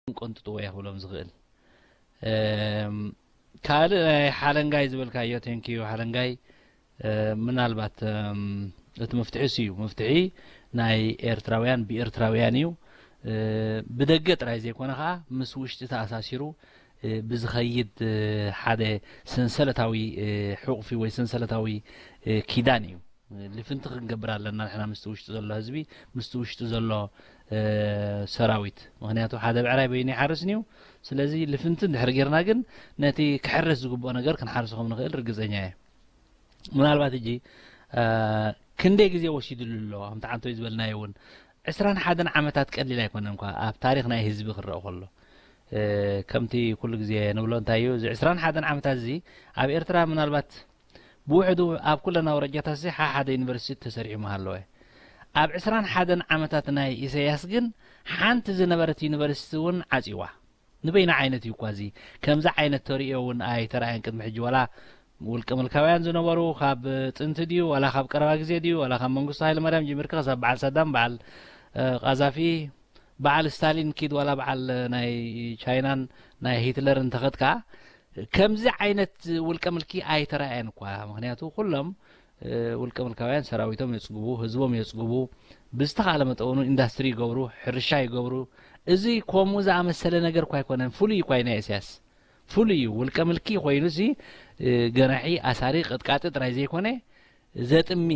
ቀንጥጥዎ እየ ክብሎም ዝኽእል። ካልእ ናይ ሓለንጋይ ዝበልካዮ፣ ቴንኪዩ ሓለንጋይ። ምናልባት እቲ ምፍትሒስ እዩ፣ ምፍትሒ ናይ ኤርትራውያን ብኤርትራውያን እዩ። ብደገ ጥራይ ዘይኮነ ከዓ ምስ ውሽጢ ተኣሳሲሩ ብዝኸይድ ሓደ ሰንሰለታዊ ሕቑፊ ወይ ሰንሰለታዊ ኪዳን እዩ። ልፍንቲ ክንገብር ኣለና ንሕና ምስቲ ውሽጢ ዘሎ ህዝቢ፣ ምስቲ ውሽጢ ዘሎ ሰራዊት። ምክንያቱ ሓደ ብዕራይ በይኑ ይሓርስን እዩ። ስለዚ ልፍንቲ እንድሕር ጌርና ግን ነቲ ክሕረስ ዝግብኦ ነገር ክንሓርሶ ከም ንኽእል ርግጸኛ እየ። ምናልባት ሕጂ ክንደይ ግዜ ወሲድሉ ኣሎ፣ ከምቲ ዓንቶይ ዝበልናዮ እውን ዕስራን ሓደን ዓመታት ቀሊል ኣይኮነን እኳ ኣብ ታሪኽ ናይ ህዝቢ ክረአ ከሎ። ከምቲ ኩሉ ግዜ ንብሎ እንታይ እዩ፣ እዚ ዕስራን ሓደን ዓመታት እዚ ኣብ ኤርትራ ምናልባት ብውሕዱ ኣብ ኩለን ኣውራጃታት እዚ ሓሓደ ዩኒቨርሲቲ ተሰሪሑ ምሃለወ። ኣብ ዕስራን ሓደን ዓመታት ናይ ኢሳያስ ግን ሓንቲ ዝነበረት ዩኒቨርሲቲ እውን ዓጽዋ። ንበይና ዓይነት እዩ እኳ እዚ። ከምዚ ዓይነት ተርእዮ እውን ኣይተራእየን ቅድሚ ሕጂ። ዋላ ውልቀ ምልካውያን ዝነበሩ ካብ ጥንቲ ድዩ፣ ዋላ ካብ ቀረባ ግዜ ድዩ፣ ዋላ ካብ መንግስቱ ሃይለማርያም ጀሚርካ ክሳብ በዓል ሳዳም፣ በዓል ቃዛፊ፣ በዓል ስታሊን ኪድ፣ ዋላ በዓል ናይ ቻይናን ናይ ሂትለርን ተኸድካ፣ ከምዚ ዓይነት ውልቀ ምልኪ ኣይተራእየን እኳ። ምክንያቱ ኩሎም ውልቀ ምልካውያን ሰራዊቶም የጽግቡ፣ ህዝቦም የጽግቡ፣ ብዝተኻለ መጠኑ ኢንዳስትሪ ይገብሩ፣ ሕርሻ ይገብሩ። እዚ ከምኡ ዝኣመሰለ ነገር እኳ ኣይኮነን፣ ፍሉይ እኳ እዩ ናይ ኢሳያስ። ፍሉይ እዩ። ውልቀ ምልኪ ኮይኑ እዚ ገናሒ፣ ኣሳሪ፣ ቀጥቃጢ ጥራይ ዘይኮነ፣ ዘጥሚ፣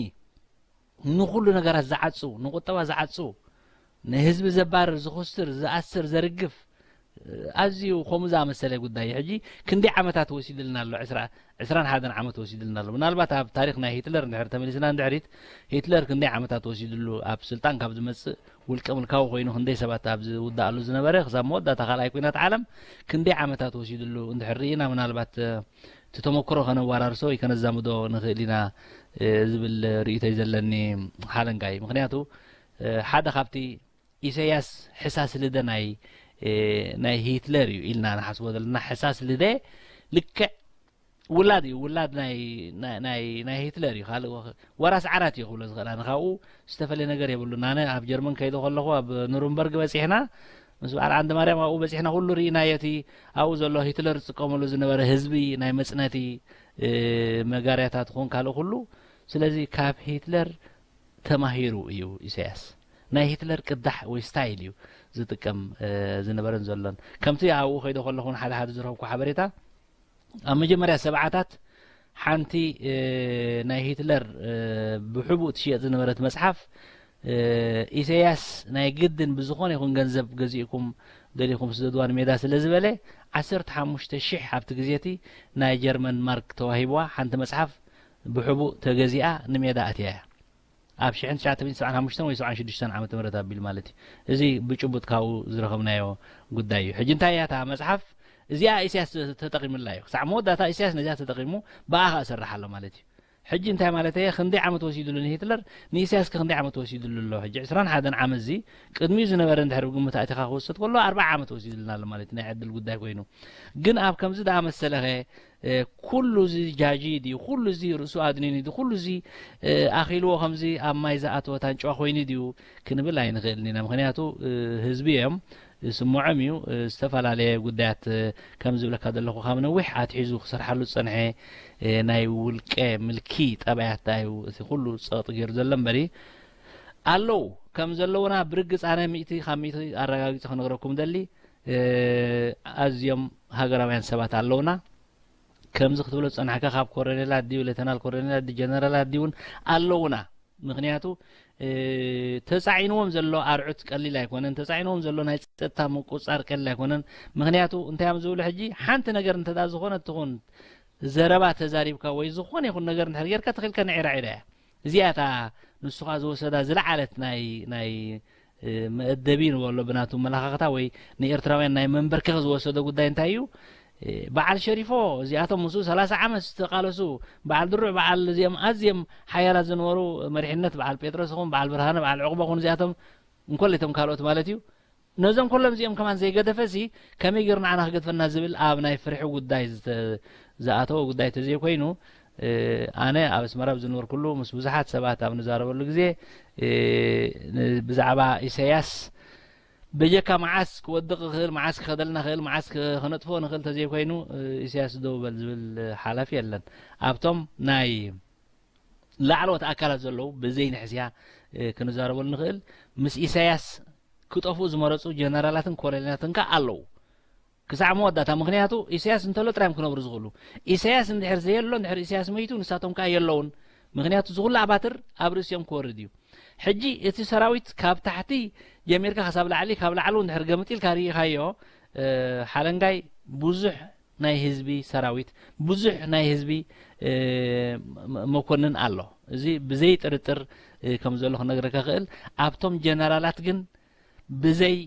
ንኹሉ ነገራት ዝዓጹ፣ ንቁጠባ ዝዓጹ፣ ንህዝቢ ዘባርር፣ ዝኹስር፣ ዝኣስር፣ ዘርግፍ፣ ኣዝዩ ከምኡ ዝኣመሰለ ጉዳይ እዩ። ሕጂ ክንደይ ዓመታት ወሲድልና ኣሎ? ዕስራ፣ ዕስራን ሓደን ዓመት ወሲድልና ኣሎ። ምናልባት ኣብ ታሪኽ ናይ ሂትለር እንድሕር ተመሊስና እንድሕሪት፣ ሂትለር ክንደይ ዓመታት ወሲድሉ ኣብ ስልጣን ካብ ዝመጽእ፣ ውልቀ ምልካዊ ኮይኑ ክንደይ ሰባት ኣብ ዝውድኣሉ ዝነበረ፣ ክሳብ መወዳእታ ካልኣይ ኲናት ዓለም ክንደይ ዓመታት ወሲድሉ እንድሕር ርኢና፣ ምናልባት እቲ ተመክሮ ከነወራርሶ ወይ ከነዛምዶ ንኽእል ኢና ዝብል ርእይቶ እዩ ዘለኒ ሓለንጋይ። ምክንያቱ ሓደ ካብቲ ኢሳያስ ሕሳስ ልደ ናይ ናይ ሂትለር እዩ ኢልና ንሓስቦ ዘለና። ሕሳስ ልደ ልክዕ ውላድ እዩ፣ ውላድ ናይ ናይ ናይ ሂትለር እዩ። ካልእ ወራስ ዓራት እዩ ክብሎ ዝኽእል። ኣነ ካብኡ ዝተፈለየ ነገር የብሉን። ኣነ ኣብ ጀርመን ከይደ ከለኹ ኣብ ኑርንበርግ በጺሕና፣ ምስ በዓል ዓንደ ማርያም ኣብኡ በጺሕና፣ ኩሉ ርኢናዮ። እቲ ኣብኡ ዘሎ ሂትለር ዝጥቀመሉ ዝነበረ ህዝቢ ናይ መጽነቲ መጋርያታት ኹን ካልእ ኩሉ። ስለዚ ካብ ሂትለር ተማሂሩ እዩ ኢሳያስ። ናይ ሂትለር ቅዳሕ ወይ ስታይል እዩ ዝጥቀም ዝነበረን ዘሎን። ከምቲ ኣብኡ ከይደ ከለኹን ሓደ ሓደ ዝረኸብኩ ሓበሬታ፣ ኣብ መጀመርያ ሰብዓታት ሓንቲ ናይ ሂትለር ብሕቡእ ትሽየጥ ዝነበረት መጽሓፍ፣ ኢሳያስ ናይ ግድን ብዝኾነ ይኹን ገንዘብ ገዚእኩም ደሊኹም ስደድዋ ንሜዳ ስለ ዝበለ፣ ዓሰርተ ሓሙሽተ ሽሕ ኣብቲ ግዜ እቲ ናይ ጀርመን ማርክ ተዋሂብዋ ሓንቲ መጽሓፍ ብሕቡእ ተገዚኣ ንሜዳ ኣትያ እያ። ኣብ ሽሕን ትሽዓተ ሚእትን ሰብዓን ሓሙሽተን ወይ ሰብዓን ሽዱሽተን ዓመተ ምህረት ኣቢሉ ማለት እዩ። እዚ ብጭቡጥ ካብኡ ዝረኸብናዮ ጉዳይ እዩ። ሕጂ እንታይ እያ እታ መጽሓፍ? እዚኣ ኢሳያስ ተጠቒሙላ እዩ። ክሳዕ መወዳእታ ኢሳያስ ነዚኣ ተጠቒሙ፣ ብኣ ኸኣ እሰርሕ ኣሎ ማለት እዩ። ሕጂ እንታይ ማለት እየ? ክንደይ ዓመት ወሲድሉ ንሂትለር፣ ንኢሳያስ ከ ክንደይ ዓመት ወሲድሉ ኣሎ? ሕጂ ዕስራን ሓደን ዓመት እዚ ቅድሚኡ ዝነበረ እንድሕር ብግምት ኣእቲኻ ክውሰድ ከሎ፣ ኣርብዓ ዓመት ወሲድልና ኣሎ ማለት እዩ፣ ናይ ዕድል ጉዳይ ኮይኑ። ግን ኣብ ከምዚ ዝኣመሰለኸ ኩሉ እዚ ጃጂ ድዩ? ኩሉ እዚ ርእሱ ኣድኒኑ ድዩ? ኩሉ እዚ ኣኺልዎ ከምዚ ኣብ ማይ ዝኣተወ ታንጭዋ ኮይኑ ድዩ ክንብል ኣይንኽእልን ኢና። ምኽንያቱ ህዝቢ እዮም፣ ዝስምዖም እዩ። ዝተፈላለየ ጉዳያት ከም ዝብለካ ዘለኹ ካብ ነዊሕ ኣትሒዙ ክሰርሓሉ ዝጸንሐ ናይ ውልቀ ምልኪ ጠባያት እዩ እቲ ኩሉ ጸቕጢ ገይሩ ዘሎ እምበሪ ኣለዉ ከም ዘለዉና ብርግጽ ኣነ ሚእቲ ካብ ሚእቲ ኣረጋጊጸ ክነግረኩም ደሊ ኣዝዮም ሃገራውያን ሰባት ኣለዉና። ከምዚ ክትብሎ ዝጸናሕካ ካብ ኮረኔላት ድዩ ሌተናል ኮረኔላት ድዩ ጀነራላት ድዩ እውን ኣለዉና። ምኽንያቱ ተጻዒንዎም ዘሎ ኣርዑት ቀሊል ኣይኮነን። ተጻዒንዎም ዘሎ ናይ ጸጥታ ምቁጻር ቀሊል ኣይኮነን። ምኽንያቱ እንታይ እዮም ዝብሉ ሕጂ ሓንቲ ነገር እንተ ዝኾነት ትኹን ዘረባ ተዛሪብካ ወይ ዝኾነ ይኹን ነገር እንድሕር ጌርካ ተኺልካ ንዒራ ዒራ እያ። እዚኣ እታ ንሱ ኸኣ ዝወሰዳ ዝለዓለት ናይ ናይ መእደቢ ንበሎ ብናቱ መለኻኽታ ወይ ንኤርትራውያን ናይ መንበርከኽ ዝወሰዶ ጉዳይ እንታይ እዩ? በዓል ሸሪፎ እዚኣቶም ምስኡ ሰላሳ ዓመት ዝተቃለሱ በዓል ድሩዕ በዓል እዚኦም ኣዝዮም ሓያላት ዝነበሩ መሪሕነት በዓል ጴጥሮስ ይኹን በዓል ብርሃነ በዓል ዕቑበ ይኹን እዚኣቶም እንኮለይቶም ካልኦት ማለት እዩ። ነዞም ኩሎም እዚኦም ከማን ዘይገደፈ ሲ ከመይ ገይሩ ንዓና ክገድፈና ዝብል ኣብ ናይ ፍርሒ ጉዳይ ዝኣተወ ጉዳይ ተዘይኮይኑ ኣነ ኣብ ኣስመራ ዝነበርኩሉ ምስ ብዙሓት ሰባት ኣብ ንዛረበሉ ግዜ ብዛዕባ ኢሳያስ በጀካ መዓስ ክወድቕ ይኽእል፣ መዓስ ክኸደልና ይኽእል፣ መዓስ ከነጥፍኦ ንኽእል ተዘይኮይኑ፣ ኢሳያስ ደው በል ዝብል ሓላፊ የለን። ኣብቶም ናይ ላዕለዎት ኣካላት ዘለዉ ብዘይ ንሕስያ ክንዛረበሉ ንኽእል። ምስ ኢሳያስ ክጠፍኡ ዝመረጹ ጀነራላትን ኮሎኔላትን ከኣ ኣለዉ። ክሳዕ መወዳእታ። ምኽንያቱ ኢሳያስ እንተሎ ጥራይ እዮም ክነብሩ ዝኽእሉ። ኢሳያስ እንድሕር ዘየሎ፣ እንድሕር ኢሳያስ መይቱ፣ ንሳቶም ከኣ የለውን። ምኽንያቱ ዝኹሉ ኣባትር ኣብ ርእሲኦም ክወርድ እዩ። ሕጂ እቲ ሰራዊት ካብ ታሕቲ ጀሚርካ ክሳብ ላዕሊ፣ ካብ ላዕሊ እንድሕር ገምጢልካ ርኢኻዮ፣ ሓለንጋይ ብዙሕ ናይ ህዝቢ ሰራዊት፣ ብዙሕ ናይ ህዝቢ መኮንን ኣሎ። እዚ ብዘይ ጥርጥር ከም ዘሎ ክነግረካ ክእል። ኣብቶም ጀነራላት ግን ብዘይ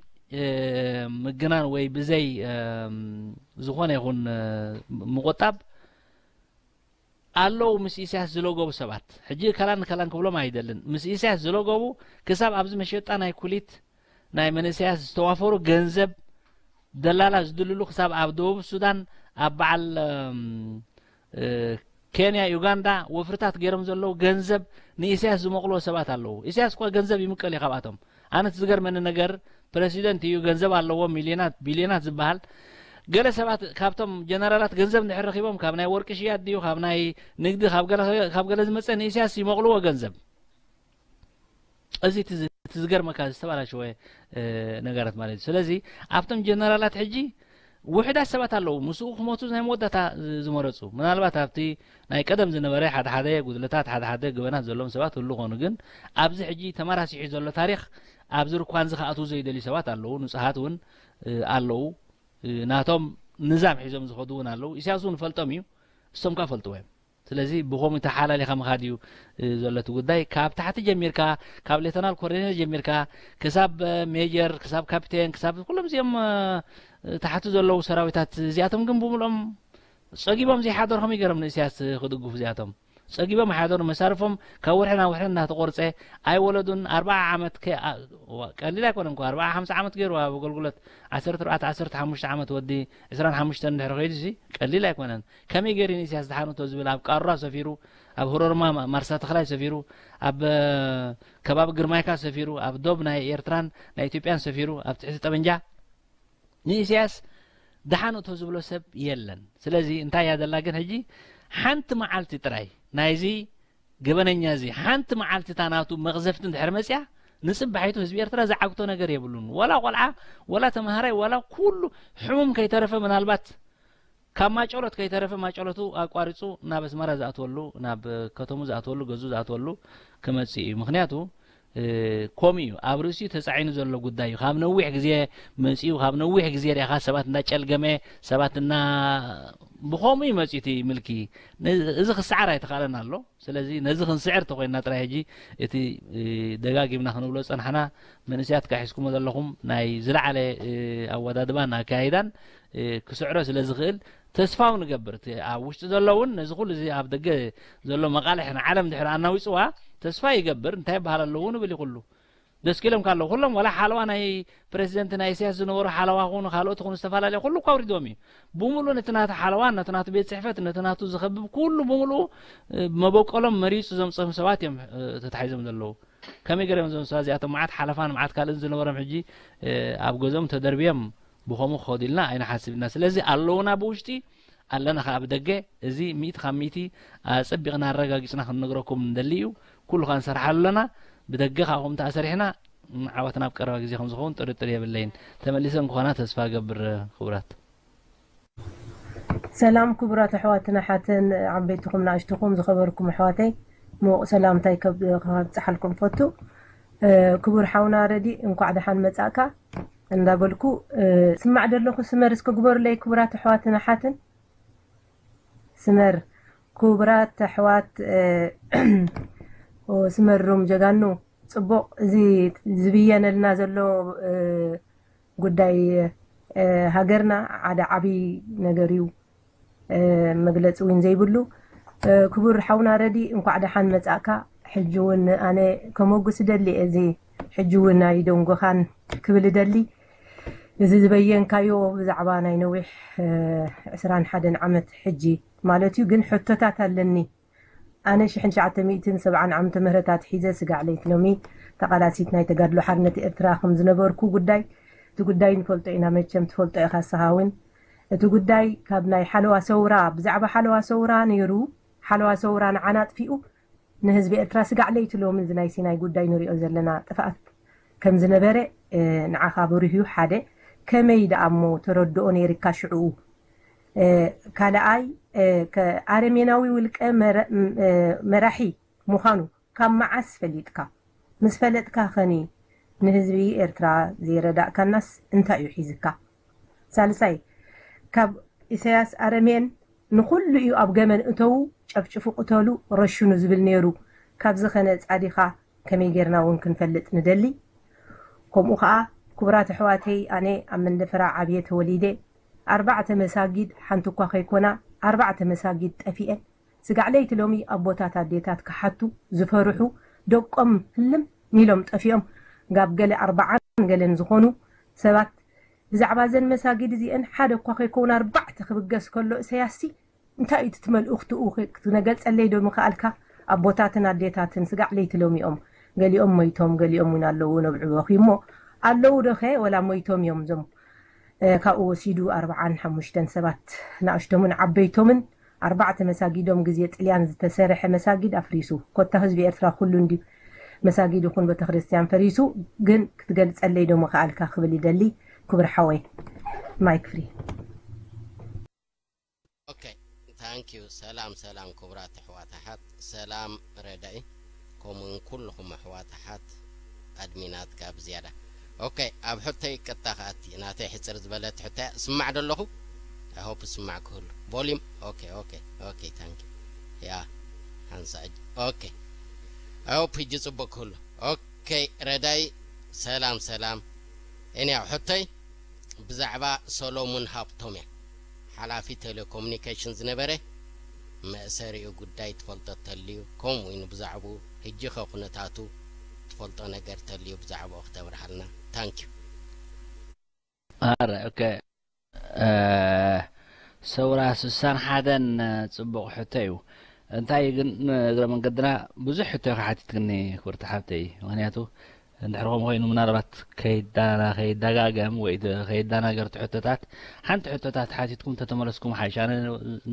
ምግናን ወይ ብዘይ ዝኾነ ይኹን ምቁጣብ ኣለዉ ምስ ኢሳያስ ዝለገቡ ሰባት። ሕጂ ከላን ከላን ክብሎም ኣይደልን። ምስ ኢሳያስ ዝለገቡ ክሳብ ኣብዚ መሸጣ ናይ ኩሊት ናይ መንእሰያት ዝተዋፈሩ ገንዘብ ደላላ ዝድልሉ ክሳብ ኣብ ደቡብ ሱዳን ኣብ በዓል ኬንያ፣ ዩጋንዳ ወፍርታት ገይሮም ዘለዉ ገንዘብ ንኢሳያስ ዝመቕልዎ ሰባት ኣለዉ። ኢሳያስ እኳ ገንዘብ ይምቀል እዩ ካብኣቶም። ኣነ እቲ ዝገርመኒ ነገር ፕረሲደንት እዩ፣ ገንዘብ ኣለዎ፣ ሚልዮናት ቢልዮናት ዝበሃል። ገለ ሰባት ካብቶም ጀነራላት ገንዘብ እንድሕር ረኺቦም ካብ ናይ ወርቂ ሽያጥ ድዩ ካብ ናይ ንግዲ ካብ ገለ ዝመፀ ንኢሳያስ ይመቕልዎ ገንዘብ። እዚ እቲ ዝገርመካ ዝተባላሸወ ነገራት ማለት እዩ። ስለዚ ኣብቶም ጀነራላት ሕጂ ውሕዳት ሰባት ኣለዉ ምስኡ ክሞቱ ናይ መወዳእታ ዝመረፁ። ምናልባት ኣብቲ ናይ ቀደም ዝነበረ ሓደ ሓደ ጉድለታት፣ ሓደ ሓደ ገበናት ዘሎም ሰባት ህሉ ኾኑ፣ ግን ኣብዚ ሕጂ ተመራሲሑ ዘሎ ታሪኽ ኣብዚ ርኳንዚ ክኣትዉ ዘይደልዩ ሰባት ኣለዉ። ንጹሃት እውን ኣለዉ። ናቶም ንዛም ሒዞም ዝኸዱ እውን ኣለዉ። ኢሳያስ እውን ፈልጦም እዩ፣ እሶም ከኣ ፈልጥዎ እዮም። ስለዚ ብኸምኡ ተሓላሊኻ ምኻድ እዩ ዘሎ እቲ ጉዳይ። ካብ ታሕቲ ጀሚርካ፣ ካብ ሌተናል ኮሎኔል ጀሚርካ ክሳብ ሜጀር፣ ክሳብ ካፒቴን፣ ክሳብ ኩሎም እዚኦም ታሕቲ ዘለዉ ሰራዊታት እዚኣቶም ግን ብምልኦም ጸጊቦም ዘይሓደሩ ከመይ ገይሮም ንእስያስ ክድግፉ እዚኣቶም? ጸጊቦም ኣይሓደሩ። መሳርፎም ካብ ወርሒ ናብ ወርሒ እናተቆርጸ ኣይወለዱን። ኣርብዓ ዓመት ከ-፣ ዋ፣ ቀሊል ኣይኮነን እኮ። ኣርብዓ ሓምሳ ዓመት ገይሩ ኣብ ኣገልግሎት ዓሰርተ ኣርባዕተ ዓሰርተ ሓሙሽተ ዓመት ወዲ ዕስራን ሓሙሽተን እንድሕር ከይዱ ሲ ቀሊል ኣይኮነን። ከመይ ገይሩ ንእስያስ ደሓን እቶ ዝብል ኣብ ቃሩራ ሰፊሩ፣ ኣብ ህሮርማ ማ-፣ ማርሳ ተኽላይ ሰፊሩ፣ ኣብ ከባቢ ግርማይካ ሰፊሩ፣ ኣብ ዶብ ናይ ኤርትራን ናይ ኢትዮጵያን ሰፊሩ፣ ኣብ ትሕቲ ጠበንጃ ንኢሳያስ ደሓን እቶ ዝብሎ ሰብ የለን። ስለዚ እንታይ እያ ዘላ ግን ሕጂ ሓንቲ መዓልቲ ጥራይ ናይዚ ገበነኛ እዚ ሓንቲ መዓልቲ እታ ናቱ መቕዘፍቲ እንድሕር መጽያ ንጽባሒቱ ህዝቢ ኤርትራ ዝዓግቶ ነገር የብሉን። ወላ ቆልዓ፣ ወላ ተምሃራይ፣ ወላ ኩሉ ሕሙም ከይተረፈ ምናልባት ካብ ማጨሎት ከይተረፈ ማጨሎቱ ኣቋሪጹ ናብ ኣስመራ ዝኣትወሉ፣ ናብ ከተሙ ዝኣትወሉ፣ ገዙ ዝኣትወሉ ክመጽእ እዩ። ምኽንያቱ ከምኡ እዩ። ኣብ ርእሲኡ ተጻዒኑ ዘሎ ጉዳይ እዩ። ካብ ነዊሕ ግዜ መጺኡ፣ ካብ ነዊሕ ግዜ ርኢኻ ሰባት እንዳጨልገመ፣ ሰባት እና-፣ ብኸምኡ እዩ መጺኡ እቲ ምልኪ። ነ-፣ እዚ ክሰዓር ኣይተኻእለን ኣሎ። ስለዚ ነዚ ክንስዕር ተኾይንና ጥራይ ሕጂ እቲ ደጋጊምና ክንብሎ ዝጸናሕና መንእሰያት ከኣ ሒዝኩሞ ዘለኹም ናይ ዝለዓለ ኣወዳድባን ኣካያይዳን ክስዕሮ ስለ ዝኽእል ተስፋ እውን እገብር። እቲ ኣብ ውሽጢ ዘሎ እውን ነዚ ኩሉ እዚ ኣብ ደገ ዘሎ መቓልሕ ንዓለም ድሕሪ ኣናዊጽዋ ተስፋ ይገብር። እንታይ ይበሃል ኣለዉ ንብል እዩ ኩሉ። ደስኪሎም ካለዉ ኩሎም ዋላ ሓለዋ ናይ ፕረሲደንት ናይ ኢሳያስ ዝነበሩ ሓለዋ ኩኑ ካልኦት ኩኑ ዝተፈላለየ ኩሉ እኳ ኣውሪድዎም እዩ። ብምሉእ ነቲ ናቱ ሓለዋ፣ ነቲ ናቱ ቤት ጽሕፈት፣ ነቲ ናቱ ዝኸብብ ኩሉ ብምሉኡ መበቆሎም መሪጹ ዘምጽኦም ሰባት እዮም ተታሒዞም ዘለዉ። ከመይ ገይሮም እዞም ሰባት እዚኣቶም መዓት ሓለፋን መዓት ካልእን ዝነበሮም ሕጂ ኣብ ገዝኦም ተደርብዮም ብኸምኡ ክኸዱ ኢልና ኣይንሓስብ ኢና። ስለዚ ኣለዉና ብውሽጢ ኣለና ከኣ ብደገ። እዚ ሚእቲ ካብ ሚእቲ ኣጸቢቕና ኣረጋጊጽና ክንነግረኩም ንደሊ እዩ። ኩሉ ከኣ ንሰርሓሉ ኣለና። ብደገ ከኣ ከምኡ እንተኣ ሰሪሕና ዓወትና ኣብ ቀረባ ግዜ ከም ዝኸውን ጥርጥር የብለይን። ተመሊሰን ክኾና ተስፋ እገብር። ክቡራት ሰላም ክቡራት ኣሕዋትን ኣሓትን ዓበይትኹም ንኣሽትኹም ዝኸበርኩም ኣሕዋተይ፣ ምዉቕ ሰላምታይ ከብጽሓልኩም ፈቱ። ክቡር ሓውና ረዲ እንኳዕ ደሓን መጻእካ እንዳበልኩ፣ ስማዕ ደለኹ ስመር እስከ ግበሩለይ ክቡራት ኣሕዋትን ኣሓትን። ስመር ክቡራት ኣሕዋት፣ ስመር ሩም ጀጋኑ፣ ጽቡቕ። እዚ ዝብየነልና ዘሎ ጉዳይ ሃገርና ሓደ ዓብዪ ነገር እዩ። መግለጺ እውን ዘይብሉ። ክቡር ሓውና ረዲ እንኳዕ ደሓን መጻእካ። ሕጂ እውን ኣነ ከመጉስ እደሊ እየ። እዚ ሕጂ እውን ኣይደንጎኻን ክብል እደሊ። እዚ ዝበየንካዮ ብዛዕባ ናይ ነዊሕ ዕስራን ሓደን ዓመት ሕጂ ማለት እዩ። ግን ሕቶታት ኣለኒ። ኣነ ሽሕን ትሽዓተ ሚእትን ሰብዓን ዓመተ ምህረት ኣትሒዘ ስጋዕ ለይቲ ሎሚ ተቓላሲት ናይ ተጋድሎ ሓርነት ኤርትራ ከም ዝነበርኩ ጉዳይ እቲ ጉዳይ ንፈልጦ ኢና መቸም፣ ትፈልጦ ኢኻ ንስኻ እውን። እቲ ጉዳይ ካብ ናይ ሓለዋ ሰውራ፣ ብዛዕባ ሓለዋ ሰውራ ነይሩ፣ ሓለዋ ሰውራ ንዓና ኣጥፊኡ ንህዝቢ ኤርትራ ስጋዕ ለይቲ ሎሚ እዚ ናይ ሲናይ ጉዳይ ንሪኦ ዘለና ጥፍኣት ከም ዝነበረ፣ እ፣ ንዓኻ ብሩህ እዩ። ሓደ፣ ከመይ ደኣ እሞ ተረድኦ ነይርካ ሽዕኡ? እ፣ ካልኣይ፣ እ፣ ከ-፣ ኣረሜናዊ ውልቀ መረ-፣ ም-፣ እ፣ መራሒ ምዃኑ ካብ መዓስ ፈሊጥካ? ምስ ፈለጥካ ኸኒ ንህዝቢ ኤርትራ ዘይረዳእካናስ እንታይ እዩ ሒዝካ? ሳልሳይ፣ ካብ ኢሳያስ ኣረሜን ንኹሉ እዩ ኣብ ገመል እተዉ፣ ጨፍጭፉ፣ ቅተሉ፣ ረሽኑ ዝብል ነይሩ። ካብዚ ኸነ ጻዲኻ ከመይ ጌርና እውን ክንፈልጥ ንደሊ። ከምኡ ኸኣ ክቡራት ኣሕዋተይ፣ ኣነ ኣብ መንደፈራ ዓብየ ተወሊደ። ኣርባዕተ መሳጊድ ሓንቲ እኳ ከይኮና፣ ኣርባዕተ መሳጊድ ጠፊኤን። ስጋዕ ለይቲ ሎሚ ኣቦታት ኣዴታት ክሓቱ ዝፈርሑ፣ ደቆም ህልም ኢሎም ጠፊኦም፣ ጋብ ገለ ኣርባዓን ገለን ዝኾኑ ሰባት ብዛዕባ እዘን መሳጊድ እዚአን ሓደ እኳ ከይከውን ኣርባዕተ ክብገስ ከሎ እሰያስሲ እንታይ እዩ እቲ መልእኽትኡ ክትነገልጸለይ ዶ ምኽኣልካ? ኣቦታትን ኣዴታትን ስጋዕ ለይቲ ሎሚኦም ገሊኦም ሞይቶም፣ ገሊኦም እውን ኣለዉ ነብዕቦኺ እሞ ኣለዉ ዶኸ ወላ ሞይቶም እዮም እዞም? እ፣ ካብኡ ወሲዱ ኣርባዓን ሓሙሽተን ሰባት ንኣሽቶምን ዓበይቶምን ኣርባዕተ መሳጊዶም ግዜ ጥልያን ዝተሰርሐ መሳጊድ ኣፍሪሱ። ኮታ ህዝቢ ኤርትራ ኩሉ እንዲ መሳጊድ ይኹን ቤተክርስትያን ፈሪሱ፣ ግን ክትገልጸለይ ዶ ምኽኣልካ ክብል ይደሊ። ክቡር ሓወይ ማይክ ፍሪ። ኦኬ፣ ታንክ ዩ። ሰላም ሰላም ክቡራት ኣሕዋት ኣሓት፣ ሰላም ረዳኢ፣ ከምኡውን ኩልኹም ኣሕዋት ኣሓት ኣድሚናት ካብ ዝያዳ። ኦኬ፣ ኣብ ሕቶይ ቀጥታ ክኣቲ። ናተይ ሕፅር ዝበለት ሕቶያ። ስማዕ ዶ ኣለኹ? I hope ስማዕ ክህሉ። ቮሊም። ኦኬ ኦኬ ኦኬ፣ ታንክ ዩ። ያ፣ ሓንሳ እጅ። ኦኬ፣ I hope ሕጂ ፅቡቅ ክህሉ። ኦኬ፣ ረዳይ፣ ሰላም ሰላም። እኔ ሕቶይ ብዛዕባ ሰሎሙን ሃብቶም እያ። ሓላፊ ቴሌኮሙኒኬሽን ዝነበረ፣ መእሰሪኡ ጉዳይ ትፈልጦ ተልዩ፣ ከምኡ እውን ብዛዕባኡ ሕጂ ኸ ኩነታቱ ትፈልጦ ነገር ተልዩ ብዛዕባኡ ክተብርሃልና። ታንክ ዩ። ኣረ ኦኬ፣ እ፣ ሰውራ ስሳን ሓደን፣ እ፣ ጽቡቕ ሕቶ እዩ። እንታይ ግን፣ እ፣ እግረ መንገድና ብዙሕ ሕቶ ኢኻ ሓቲትክኒ ክብርቲ ሓብተይ። ምኽንያቱ እንድሕር ከምኡ ኮይኑ ምናልባት ከይዳ-፣ ከይደጋገም ወይ ደ-፣ ከይደናገር እቲ ሕቶታት፣ ሓንቲ ሕቶታት ሓቲትኩም ተተመለስኩም ሓይሽ። ኣነ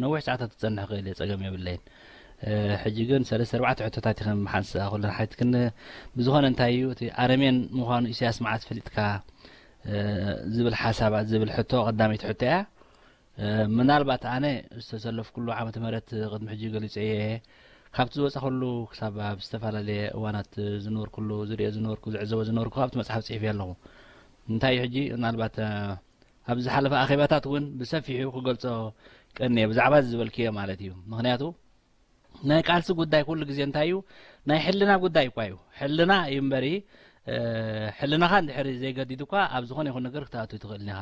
ነዊሕ ሰዓታት ክጸንሕ ክእል እየ፣ ጸገም የብለይን። እ፣ ሕጂ ግን ሰለስተ ኣርባዕተ ሕቶታት ኢኸም ሓንሳእ ኩለን ሓቲትክኒ። ብዝኾነ እንታይ እዩ እቲ ኣረሜን ምዃኑ ኢሳያስ መዓስ ፈሊጥካ? እ፣ ዝብል ሓሳባት ዝብል ሕቶ ቀዳመይቲ ሕቶ እያ። እ፣ ምናልባት ኣነ ዝተሰለፍኩሉ ዓመተ ምህረት ቅድሚ ሕጂ ገሊጸ እየ። ካብቲ ዝወጻኹሉ ክሳብ ኣብ ዝተፈላለየ እዋናት ዝነበርኩሉ፣ ዝርእዮ ዝነበርኩ፣ ዝዕዘቦ ዝነበርኩ ኣብቲ መጽሓፍ ጽሒፈ ኣለኹ። እንታይ እዩ ሕጂ ምናልባት፣ እ፣ ኣብ ዝሓለፈ ኣኼባታት እውን ብሰፊሑ ክገልጾ ቀንየ ብዛዕባ እዚ ዝበልክዮ ማለት እዩ። ምኽንያቱ ናይ ቃልሲ ጉዳይ ኩሉ ግዜ እንታይ እዩ? ናይ ሕልና ጉዳይ እኳ እዩ። ሕልና እዩ እምበሪ፣ እ፣ ሕልናኻ እንድሕር ዘይገዲዱ እኳ ኣብ ዝኾነ ይኹን ነገር ክትኣቱ ትኽእል ኢኻ።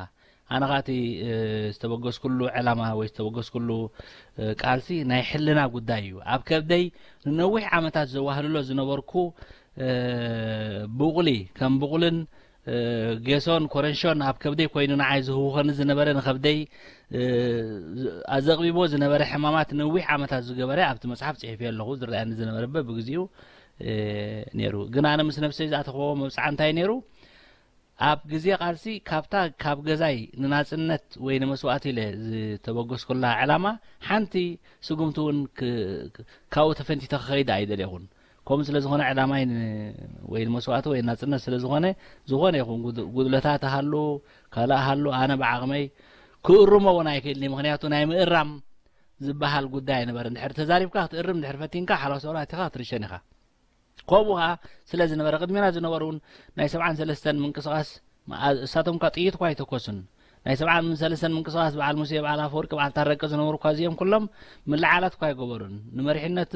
ኣነ ኸኣ እቲ፣ እ፣ ዝተበገስኩሉ ዕላማ ወይ ዝተበገስኩሉ፣ እ፣ ቃልሲ ናይ ሕልና ጉዳይ እዩ። ኣብ ከብደይ ንነዊሕ ዓመታት ዘዋህልሎ ዝነበርኩ፣ እ፣ ብቑሊ፣ ከም ብቑልን እ፣ ጌሶን ኮረንሾን ኣብ ከብደይ ኮይኑ ንዓይ ዝህውኸኒ ዝነበረ፣ ንኸብደይ፣ እ፣ ኣዘቕቢቦ ዝነበረ ሕማማት ነዊሕ ዓመታት ዝገበረ ኣብቲ መጽሓፍ ጽሒፈዮ ኣለኹ። ዝረኣየኒ ዝነበረ በብግዜኡ፣ እ፣ ነይሩ። ግን ኣነ ምስ ነብሰይ ዝኣተኽዎ መብጽዓ እንታይ ነይሩ? ኣብ ግዜ ቃልሲ ካብታ ካብ ገዛይ ንናጽነት ወይ ንመስዋእቲ ኢለ ዝተበገስኩላ ዕላማ ሓንቲ ስጉምቲ እውን ክ-፣ ክ-፣ ካብኡ ተፈንቲተ ክኸይድ ኣይደለኹን። ከምኡ ስለ ዝኾነ ዕላማይ ን-፣ ወይ ንመስዋእቲ ወይ ናጽነት ስለ ዝኾነ፣ ዝኾነ ይኹን ጉድ-፣ ጉድለታት ሃሉ፣ ካልእ ሃሉ፣ ኣነ ብዓቕመይ ክእርሞ እውን ኣይክእልን እየ። ምኽንያቱ ናይ ምእራም ዝበሃል ጉዳይ ኣይነበረን። እንድሕር ተዛሪብካ ክትእርም፣ እንድሕር ፈቲንካ ሓላው ሰውራ ኣቲኻ ክትርሸን ኢኻ። ከምኡ ኸኣ ስለ ዝነበረ፣ ቅድሜና ዝነበሩ እውን ናይ ሰብዓን ሰለስተን ምንቅስቓስ፣ እሳቶም እኳ ጥይት እኳ ኣይተኮሱን። ናይ ሰብዓን ሰለስተን ምንቅስቓስ፣ በዓል ሙሴ፣ በዓል ኣፈወርቂ፣ በዓል ታረቀ ዝነበሩ እኳ እዚኦም ኩሎም ምልዓላት እኳ ኣይገበሩን። ንመሪሕነት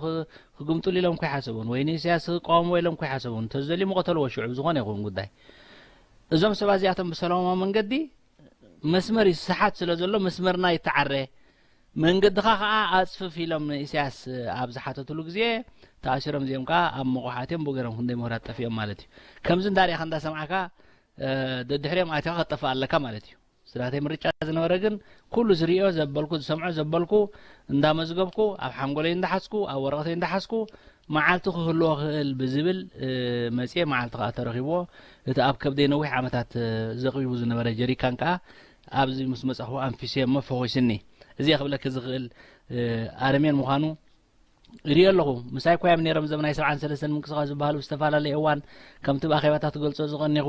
ኽ-፣ ክግምጥሉ ኢሎም እኳ ኣይሓሰቡን፣ ወይ ንኢሳያስ ክቃወምዎ ኢሎም እኳ ኣይሓሰቡን። እንተዝደልዩ ምቐተልዎ ሽዑ ብዝኾነ ይኹን ጉዳይ። እዞም ሰባት እዚኣቶም ብሰላማዊ መንገዲ መስመር ይሰሓት ስለ ዘሎ መስመርና ይተዓረ፣ መንገድኻ ኸኣ ኣጽፍፍ ኢሎም ንኢሳያስ ኣብ ዝሓተትሉ ግዜ ተኣሲሮም እዚኦም ከኣ ኣብ መቑሓት እዮም ብኡ ገይሮም ክንደይ ምሁራት ጠፊኦም ማለት እዩ። ከምዚ እንዳርኣኻ እንዳሰማዕካ፣ እ፣ ደድሕሪኦም ኣቲኻ ክትጠፍእ ኣለካ ማለት እዩ። ስራተይ ምርጫ ዝነበረ ግን ኩሉ ዝርእዮ ዘበልኩ ዝሰምዖ ዘበልኩ እንዳመዝገብኩ ኣብ ሓንጎለይ እንዳሓዝኩ ኣብ ወረቐተይ እንዳሓዝኩ መዓልቱ ክህልዎ ክእል ብዝብል መፅየ። መዓልቲ ከዓ ተረኪብዎ። እቲ ኣብ ከብደይ ነዊሕ ዓመታት ዘቕቢቡ ዝነበረ ጀሪካን ከዓ ኣብዚ ምስ መፃኹ ኣንፊሰ እሞ ፈኹስኒ። እዚ ክብለኪ ዝኽእል ኣረሜን ምዃኑ ይሪኦ ኣለኹ። ምሳይ ኮያም ነይሮም፣ ዘም ናይ ሰብዓን ሰለስተን ምንቅስቃስ ዝበሃሉ ብዝተፈላለየ እዋን ከምቲ ብኣኼባታት ትገልጾ ዝቐኒኹ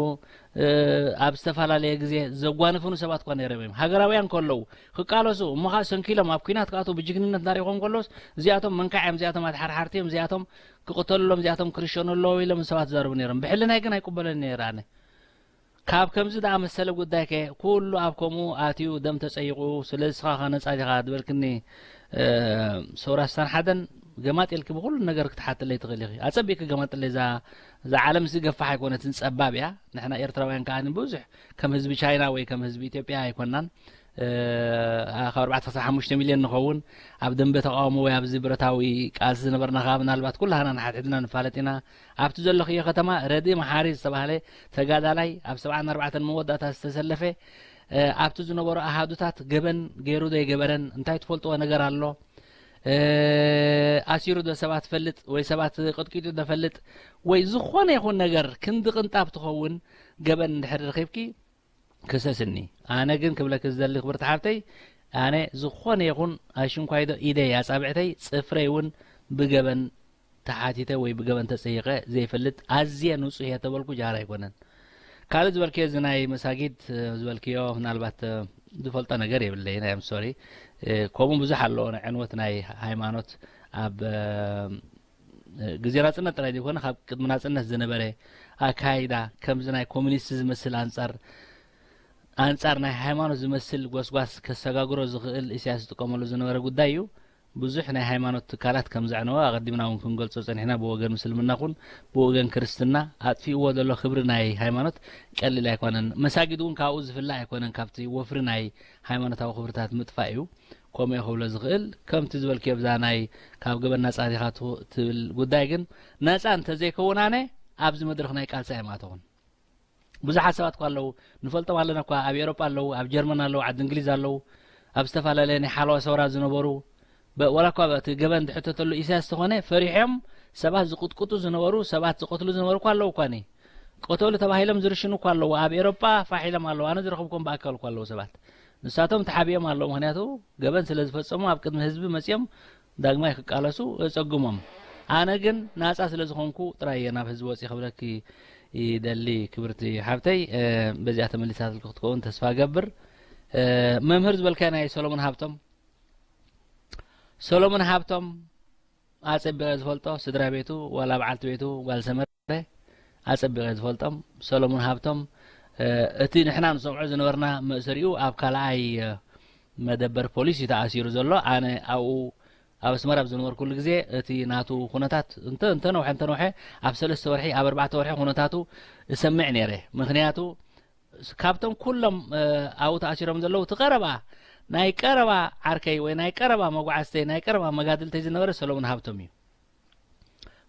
ኣብ ዝተፈላለየ ግዜ ዘጓንፉኒ ሰባት እኳ ነይሮም እዮም። ሃገራውያን ከለዉ ክቃለሱ እሞ ከዓ ሰንኪሎም ኣብ ኲናት ክኣትዉ ብጅግንነት እናሪእኹም ከለውስ እዚኣቶም መንካዕ እዮም፣ እዚኣቶም ኣድሓርሓርቲ እዮም፣ እዚኣቶም ክቕተሉ ኣለዎም፣ እዚኣቶም ክርሸኑ ኣለዎ ኢሎም ሰባት ዝዛረቡ ነይሮም። ብሕልናይ ግን ኣይቅበሎን ነይረ ኣነ። ካብ ከምዚ ዝኣመሰለ ጉዳይ ከ ኩሉ ኣብ ከምኡ ኣትዩ ደም ተጸይቑ፣ ስለዚ ስኻ ከ ነጻ ዲኻ ዝበልክኒ ሰውራ ስሳን ሓደን ገማጥ ኢልኪ ብኹሉ ነገር ክትሓትለይ ትኽእል ኢኺ። ኣጸቢቕኪ ገማጥለይ። እዛ እዛ ዓለም ሲ ገፋሕ ኣይኮነትን፣ ጸባብ እያ። ንሕና ኤርትራውያን ከኣ ብዙሕ ከም ህዝቢ ቻይና ወይ ከም ህዝቢ ኢትዮጵያ ኣይኮናን። ካብ ኣርባዕተ ክሳብ ሓሙሽተ ሚልዮን ንኸውን ኣብ ደንበ ተቃውሞ ወይ ኣብዚ ብረታዊ ቃልሲ ዝነበርና ከኣ ምናልባት ኩላህና ንሓድሕድና ንፋለጥ ኢና። ኣብቲ ዘለኽዮ ከተማ ረድኢ መሓሪ ዝተባህለ ተጋዳላይ ኣብ ሰብዓን ኣርባዕተን መወዳእታ ዝተሰለፈ ኣብቲ ዝነበሩ ኣሃዱታት ገበን ገይሩ ዶ ኣይገበረን እንታይ ትፈልጥዎ ነገር ኣሎ? ኣሲሩ ዶ ሰባት ፈልጥ ወይ ሰባት ቅጥቂጡ ዶ ፈልጥ ወይ ዝኾነ ይኹን ነገር ክንዲ ቅንጣብ ትኸውን ገበን እንድሕር ረኺብኪ ክሰስኒ። ኣነ ግን ክብለኪ ዝደሊ ክብርቲ ሓብተይ ኣነ ዝኾነ ይኹን ኣሽንኳይዶ ኢደይ ኣጻብዕተይ ጽፍረይ እውን ብገበን ተሓቲተ ወይ ብገበን ተጸይቐ ዘይፈልጥ ኣዝየ ንጹህ እየ ተበልኩ ጃህራ ኣይኮነን። ካልእ ዝበልክዮ እዚ ናይ መሳጊድ ዝበልክዮ ምናልባት ዝፈልጦ ነገር የብለይን። ኣይ ኣም ሶሪ። ከምኡ ብዙሕ ኣለዎ ናይ ዕንወት ናይ ሃይማኖት ኣብ ግዜ ናጽነት ጥራይ ዘይኮነ ካብ ቅድሚ ናጽነት ዝነበረ ኣካይዳ ከምዚ ናይ ኮሚኒስት ዝመስል ኣንጻር ኣንጻር ናይ ሃይማኖት ዝመስል ጎስጓስ ከሰጋግሮ ዝኽእል ኢሳያስ ዝጥቀመሉ ዝነበረ ጉዳይ እዩ። ብዙሕ ናይ ሃይማኖት ትካላት ከም ዘዕነወ ኣቐዲምና እውን ክንገልጾ ጸኒሕና። ብወገን ምስልምና ኹን ብወገን ክርስትና ኣጥፊእዎ ዘሎ ክብሪ ናይ ሃይማኖት ቀሊል ኣይኮነን። መሳጊድ እውን ካብኡ ዝፍለ ኣይኮነን። ካብቲ ወፍሪ ናይ ሃይማኖታዊ ክብርታት ምጥፋእ እዩ። ከምኡ ክብሎ ዝኽእል ከምቲ ዝበልክዮ ብዛ ናይ ካብ ገበን ናጻ ዲኻ ትብል ጉዳይ ግን ነጻ እንተዘይከውን ኣነ ኣብዚ መድረኽ ናይ ቃልሲ ኣይምኣተኹን። ብዙሓት ሰባት እኳ ኣለዉ፣ ንፈልጦም ኣለና እኳ፣ ኣብ ኤውሮጳ ኣለዉ፣ ኣብ ጀርመን ኣለዉ፣ ዓዲ እንግሊዝ ኣለዉ፣ ኣብ ዝተፈላለየ ናይ ሓለዋ ሰውራ ዝነበሩ፣ በ-፣ ዋላ እኳ እቲ ገበን ዝሕተተሉ ኢሳያስ ተኾነ፣ ፈሪሖም ሰባት ዝቕጥቅጡ ዝነበሩ፣ ሰባት ዝቐትሉ ዝነበሩ እኳ ኣለዉ እኳ፣ ኒ-፣ ቀተሉ ተባሂሎም ዝርሽኑ እኳ ኣለዉ፣ ኣብ ኤውሮጳ ፋሕ ኢሎም ኣለዉ፣ ኣነ ዝረኸብኩም ብኣካል እኳ ኣለዉ ሰባት። ንሳቶም ተሓቢኦም ኣለዉ፣ ምኽንያቱ ገበን ስለ ዝፈጸሙ ኣብ ቅድሚ ህዝቢ መጺኦም ዳግማይ ክቃለሱ እጸግሞም። ኣነ ግን ናጻ ስለ ዝኾንኩ ጥራይ እየ ናብ ህዝቢ ወጺ ክብለኪ ይደሊ ክብርቲ ሓብተይ። እ፣ በዚኣ ተመሊሳትልኪ ክትከውን ተስፋ ገብር። እ፣ መምህር ዝበልካዮ ናይ ሰሎሞን ሃብቶም፣ ሰሎሞን ሃብቶም ኣጸቢቐ ዝፈልጦ ስድራ ቤቱ ዋላ በዓልቲ ቤቱ ጓል ሰመረ ኣጸቢቐ ዝፈልጦም ሰሎሞን ሃብቶም፣ እ፣ እቲ ንሕና ንሰምዖ ዝነበርና መእሰሪኡ ኣብ ካልኣይ፣ እ፣ መደበር ፖሊስ እዩ ተኣሲሩ ዘሎ። ኣነ ኣብኡ ኣብ ኣስመራ ኣብ ዝነበርኩሉ ግዜ እቲ ናቱ ኩነታት እንተ-፣ እንተነውሐ እንተነውሐ ኣብ ሰለስተ ወርሒ ኣብ ኣርባዕተ ወርሒ ኩነታቱ እሰምዕ ነይረ። ምኽንያቱ ካብቶም ኩሎም፣ እ፣ ኣብኡ ተኣሲሮም ዘለዉ እቲ ቀረባ ናይ ቀረባ ዓርከይ ወይ ናይ ቀረባ መጓዓዝተይ ናይ ቀረባ መጋድልተይ ዝነበረ ሰሎሞን ሃብቶም እዩ።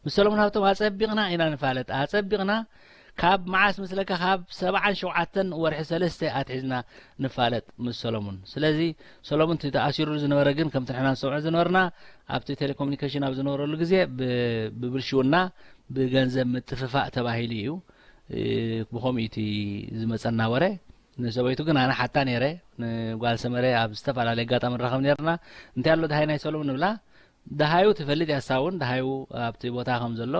ምስ ሰሎሞን ሃብቶም ኣጸቢቕና ኢና ንፋለጥ። ኣጸቢቕና ካብ መዓስ ምስለካ ካብ ሰብዓን ሸውዓተን ወርሒ ሰለስተ ኣትሒዝና ንፋለጥ ምስ ሰሎሞን። ስለዚ ሰሎሞን እቲ ተኣሲሩሉ ዝነበረ ግን ከምቲ ንሕና ንሰምዖ ዝነበርና ኣብቲ ቴሌኮሙኒኬሽን ኣብ ዝነበረሉ ግዜ ብ-፣ ብብልሽውና ብገንዘብ ምጥፍፋእ ተባሂሉ እዩ። እ፣ ብኸምኡ እዩ እቲ ዝመጸና ወረ። ንሰበይቱ ግን ኣነ ሓታ ነይረ። ንጓል ሰመረ ኣብ ዝተፈላለየ ኣጋጣሚ ንራኸብ ነይርና። እንታይ ኣሎ ደሃይ ናይ ሰሎሞን ንብላ። ደሃዩ ትፈልጥ እያ እሳ እውን፣ ደሃዩ ኣብቲ ቦታ ከም ዘሎ።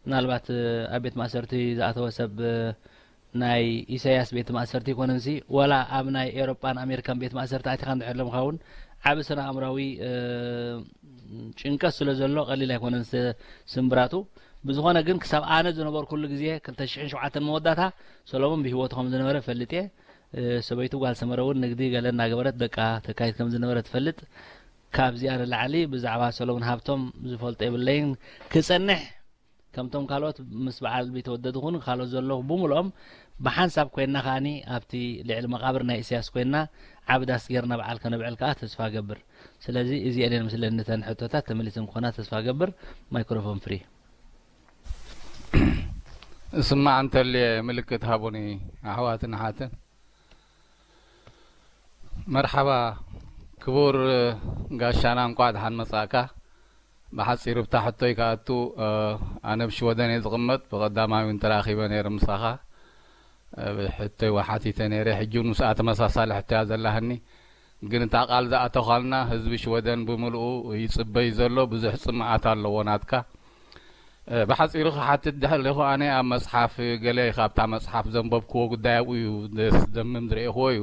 ምናልባት፣ እ፣ ኣብ ቤት ማእሰርቲ ዝኣተወ ሰብ፣ እ፣ ናይ ኢሳያስ ቤት ማእሰርቲ ይኮነንሲ፣ ዋላ ኣብ ናይ ኤውሮጳን ኣሜሪካን ቤት ማእሰርቲ ኣቲኻ እንድሕር ኢሎምኻ እውን ዓቢ ስነ ኣእምራዊ፣ እ፣ ጭንቀት ስለ ዘሎ ቀሊል ኣይኮነን ስ-፣ ስምብራቱ። ብዝኾነ ግን ክሳብ ኣነ ዝነበርኩሉ ግዜ ክልተ ሽሕን ሸውዓተን መወዳእታ ሰሎሞን ብህይወቱ ከም ዝነበረ ፈልጥ እየ። እ፣ ሰበይቱ ጓል ሰመረ እውን ንግዲ ገለ እናገበረት ደቃ ተካይድ ከም ዝነበረ ትፈልጥ። ካብዚኣ ንላዕሊ ብዛዕባ ሰሎሞን ሃብቶም ዝፈልጦ የብለይን። ክጸንሕ ከምቶም ካልኦት ምስ በዓል ቢተወደድ ኹን ካልኦት ዘለኹ ብምልኦም ብሓንሳብ ኮይንና ከኣኒ ኣብቲ ልዕሊ መቓብር ናይ ኢሳያስ ኮይንና ዓቢ ዳስ ጌርና በዓል ከነብዕል ከኣ ተስፋ እገብር። ስለዚ እዚኤን እየን ምስለኒ እተን ሕቶታት ተመሊሰን ክኾና ተስፋ እገብር። ማይክሮፎን ፍሪ። ስማዕ እንተልየ ምልክት ሃቡኒ ኣሕዋትን ኣሓትን። መርሓባ ክቡር ጋሻና፣ እንቋዕ ደሓን መጻእካ። ብሓፂሩ ብታ ሕቶይ ክኣቱ፣ ኣነ ኣብ ሽወደን እየ ዝቕመጥ። ብቐዳማይ እውን ተራኺበ ነይረ ምሳኻ። ሕቶይ ወሓቲተ ነይረ። ሕጂ እውን ምስኣ ተመሳሳሊ ሕቶ እያ ዘላህኒ። ግን እታ ቃል ዝኣተኻልና ህዝቢ ሽወደን ብምልኡ ይፅበይ ዘሎ ብዙሕ ፅምኣት ኣለዎ ናትካ። ብሓፂሩ ክሓትት ደሊኹ ኣነ ኣብ መፅሓፍ ገለ ካብታ መፅሓፍ ዘንበብክዎ ጉዳይ ኣብኡ እዩ ደስ ደምም ዝረእኽዎ እዩ።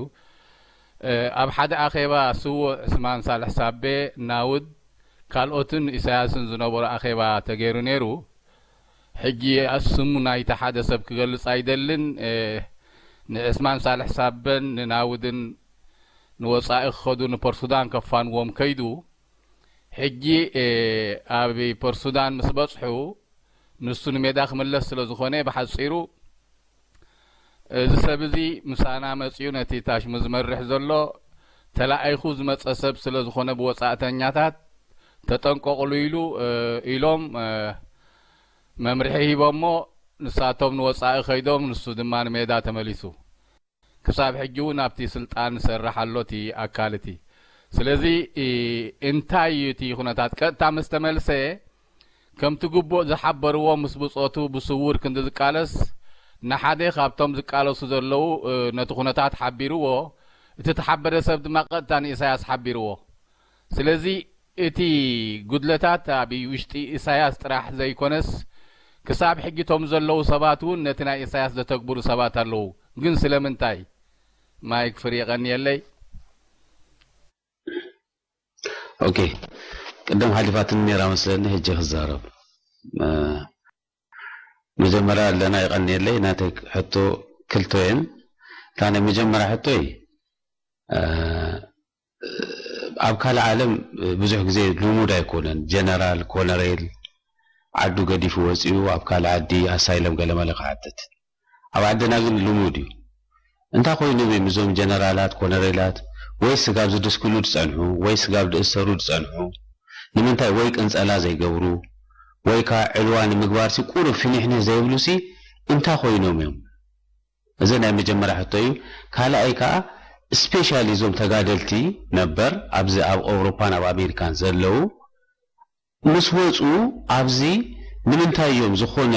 ኣብ ሓደ ኣኼባ ስዉእ ዕስማን ሳልሕ ሳቤ ናውድ ካልኦትን ኢሳያስን ዝነበሩ ኣኼባ ተገይሩ ነይሩ። ሕጂ ስሙ ናይቲ ሓደ ሰብ ክገልጽ ኣይደልን። ንዕስማን ሳልሕ ሳበን ንናውድን ንወጻኢ ክኸዱ ንፖርሱዳን ከፋንዎም ከይዱ። ሕጂ ኣብ ፖርሱዳን ምስ በጽሑ ንሱ ንሜዳ ክምለስ ስለ ዝኾነ ብሓጺሩ እዚ ሰብ እዚ ምሳና መጺኡ ነቲ ታሽሙ ዝመርሕ ዘሎ ተላኢኹ ዝመጸ ሰብ ስለ ዝኾነ ብወጻእተኛታት ተጠንቀቕሉ ኢሉ ኢሎም መምርሒ ሂቦሞ። ንሳቶም ንወጻኢ ከይዶም ንሱ ድማ ንሜዳ ተመሊሱ። ክሳብ ሕጂ እውን ኣብቲ ስልጣን ዝሰርሕ ኣሎ እቲ ኣካል እቲ። ስለዚ እንታይ እዩ እቲ ኩነታት ቀጥታ ምስ ተመልሰ ከምቲ ግቡእ ዝሓበርዎ ምስ ብጾቱ ብስውር ክንዲ ዝቃለስ ንሓደ ካብቶም ዝቃለሱ ዘለዉ ነቲ ኩነታት ሓቢርዎ፣ እቲ ተሓበረ ሰብ ድማ ቀጥታ ንኢሳያስ ሓቢርዎ። ስለዚ እቲ ጉድለታት ኣብ ውሽጢ ኢሳያስ ጥራሕ ዘይኮነስ ክሳብ ሕጂ እቶም ዘለዉ ሰባት እውን ነቲ ናይ ኢሳያስ ዘተግብሩ ሰባት ኣለዉ። ግን ስለምንታይ? ማይክ ፍሪ የቐንየለይ። ኦኬ፣ ቅድም ሓሊፋትኒ ነይራ መስለኒ፣ ሕጂ ክዛረብ። መጀመርያ ኣለና ይቐንየለይ። ናተይ ሕቶ ክልተ እየን። እታ ናይ መጀመርያ ሕቶይ ኣብ ካልእ ዓለም ብዙሕ ግዜ ልሙድ ኣይኮነን። ጀነራል ኮነሬል ዓዱ ገዲፉ ወፂኡ ኣብ ካልእ ዓዲ ኣሳይለም ገለመለ ክሓትት። ኣብ ዓድና ግን ልሙድ እዩ። እንታይ ኮይኖም እዮም እዞም ጀነራላት ኮነሬላት? ወይ ስጋብ ዝድስክሉ ዝፀንሑ ወይ ስጋብ ዝእሰሩ ዝፀንሑ ንምንታይ ወይ ቅንፀላ ዘይገብሩ? ወይ ከዓ ዕልዋ ንምግባር ሲ ቁሩብ ፊኒሕኒሕ ዘይብሉ ሲ እንታይ ኮይኖም እዮም? እዚ ናይ መጀመርያ ሕቶ እዩ። ካልኣይ ከዓ ስፔሻሊ እዞም ተጋደልቲ ነበር ኣብዚ ኣብ ኣውሮፓን ኣብ ኣሜሪካን ዘለዉ ምስ ወፁ ኣብዚ ንምንታይ እዮም ዝኾነ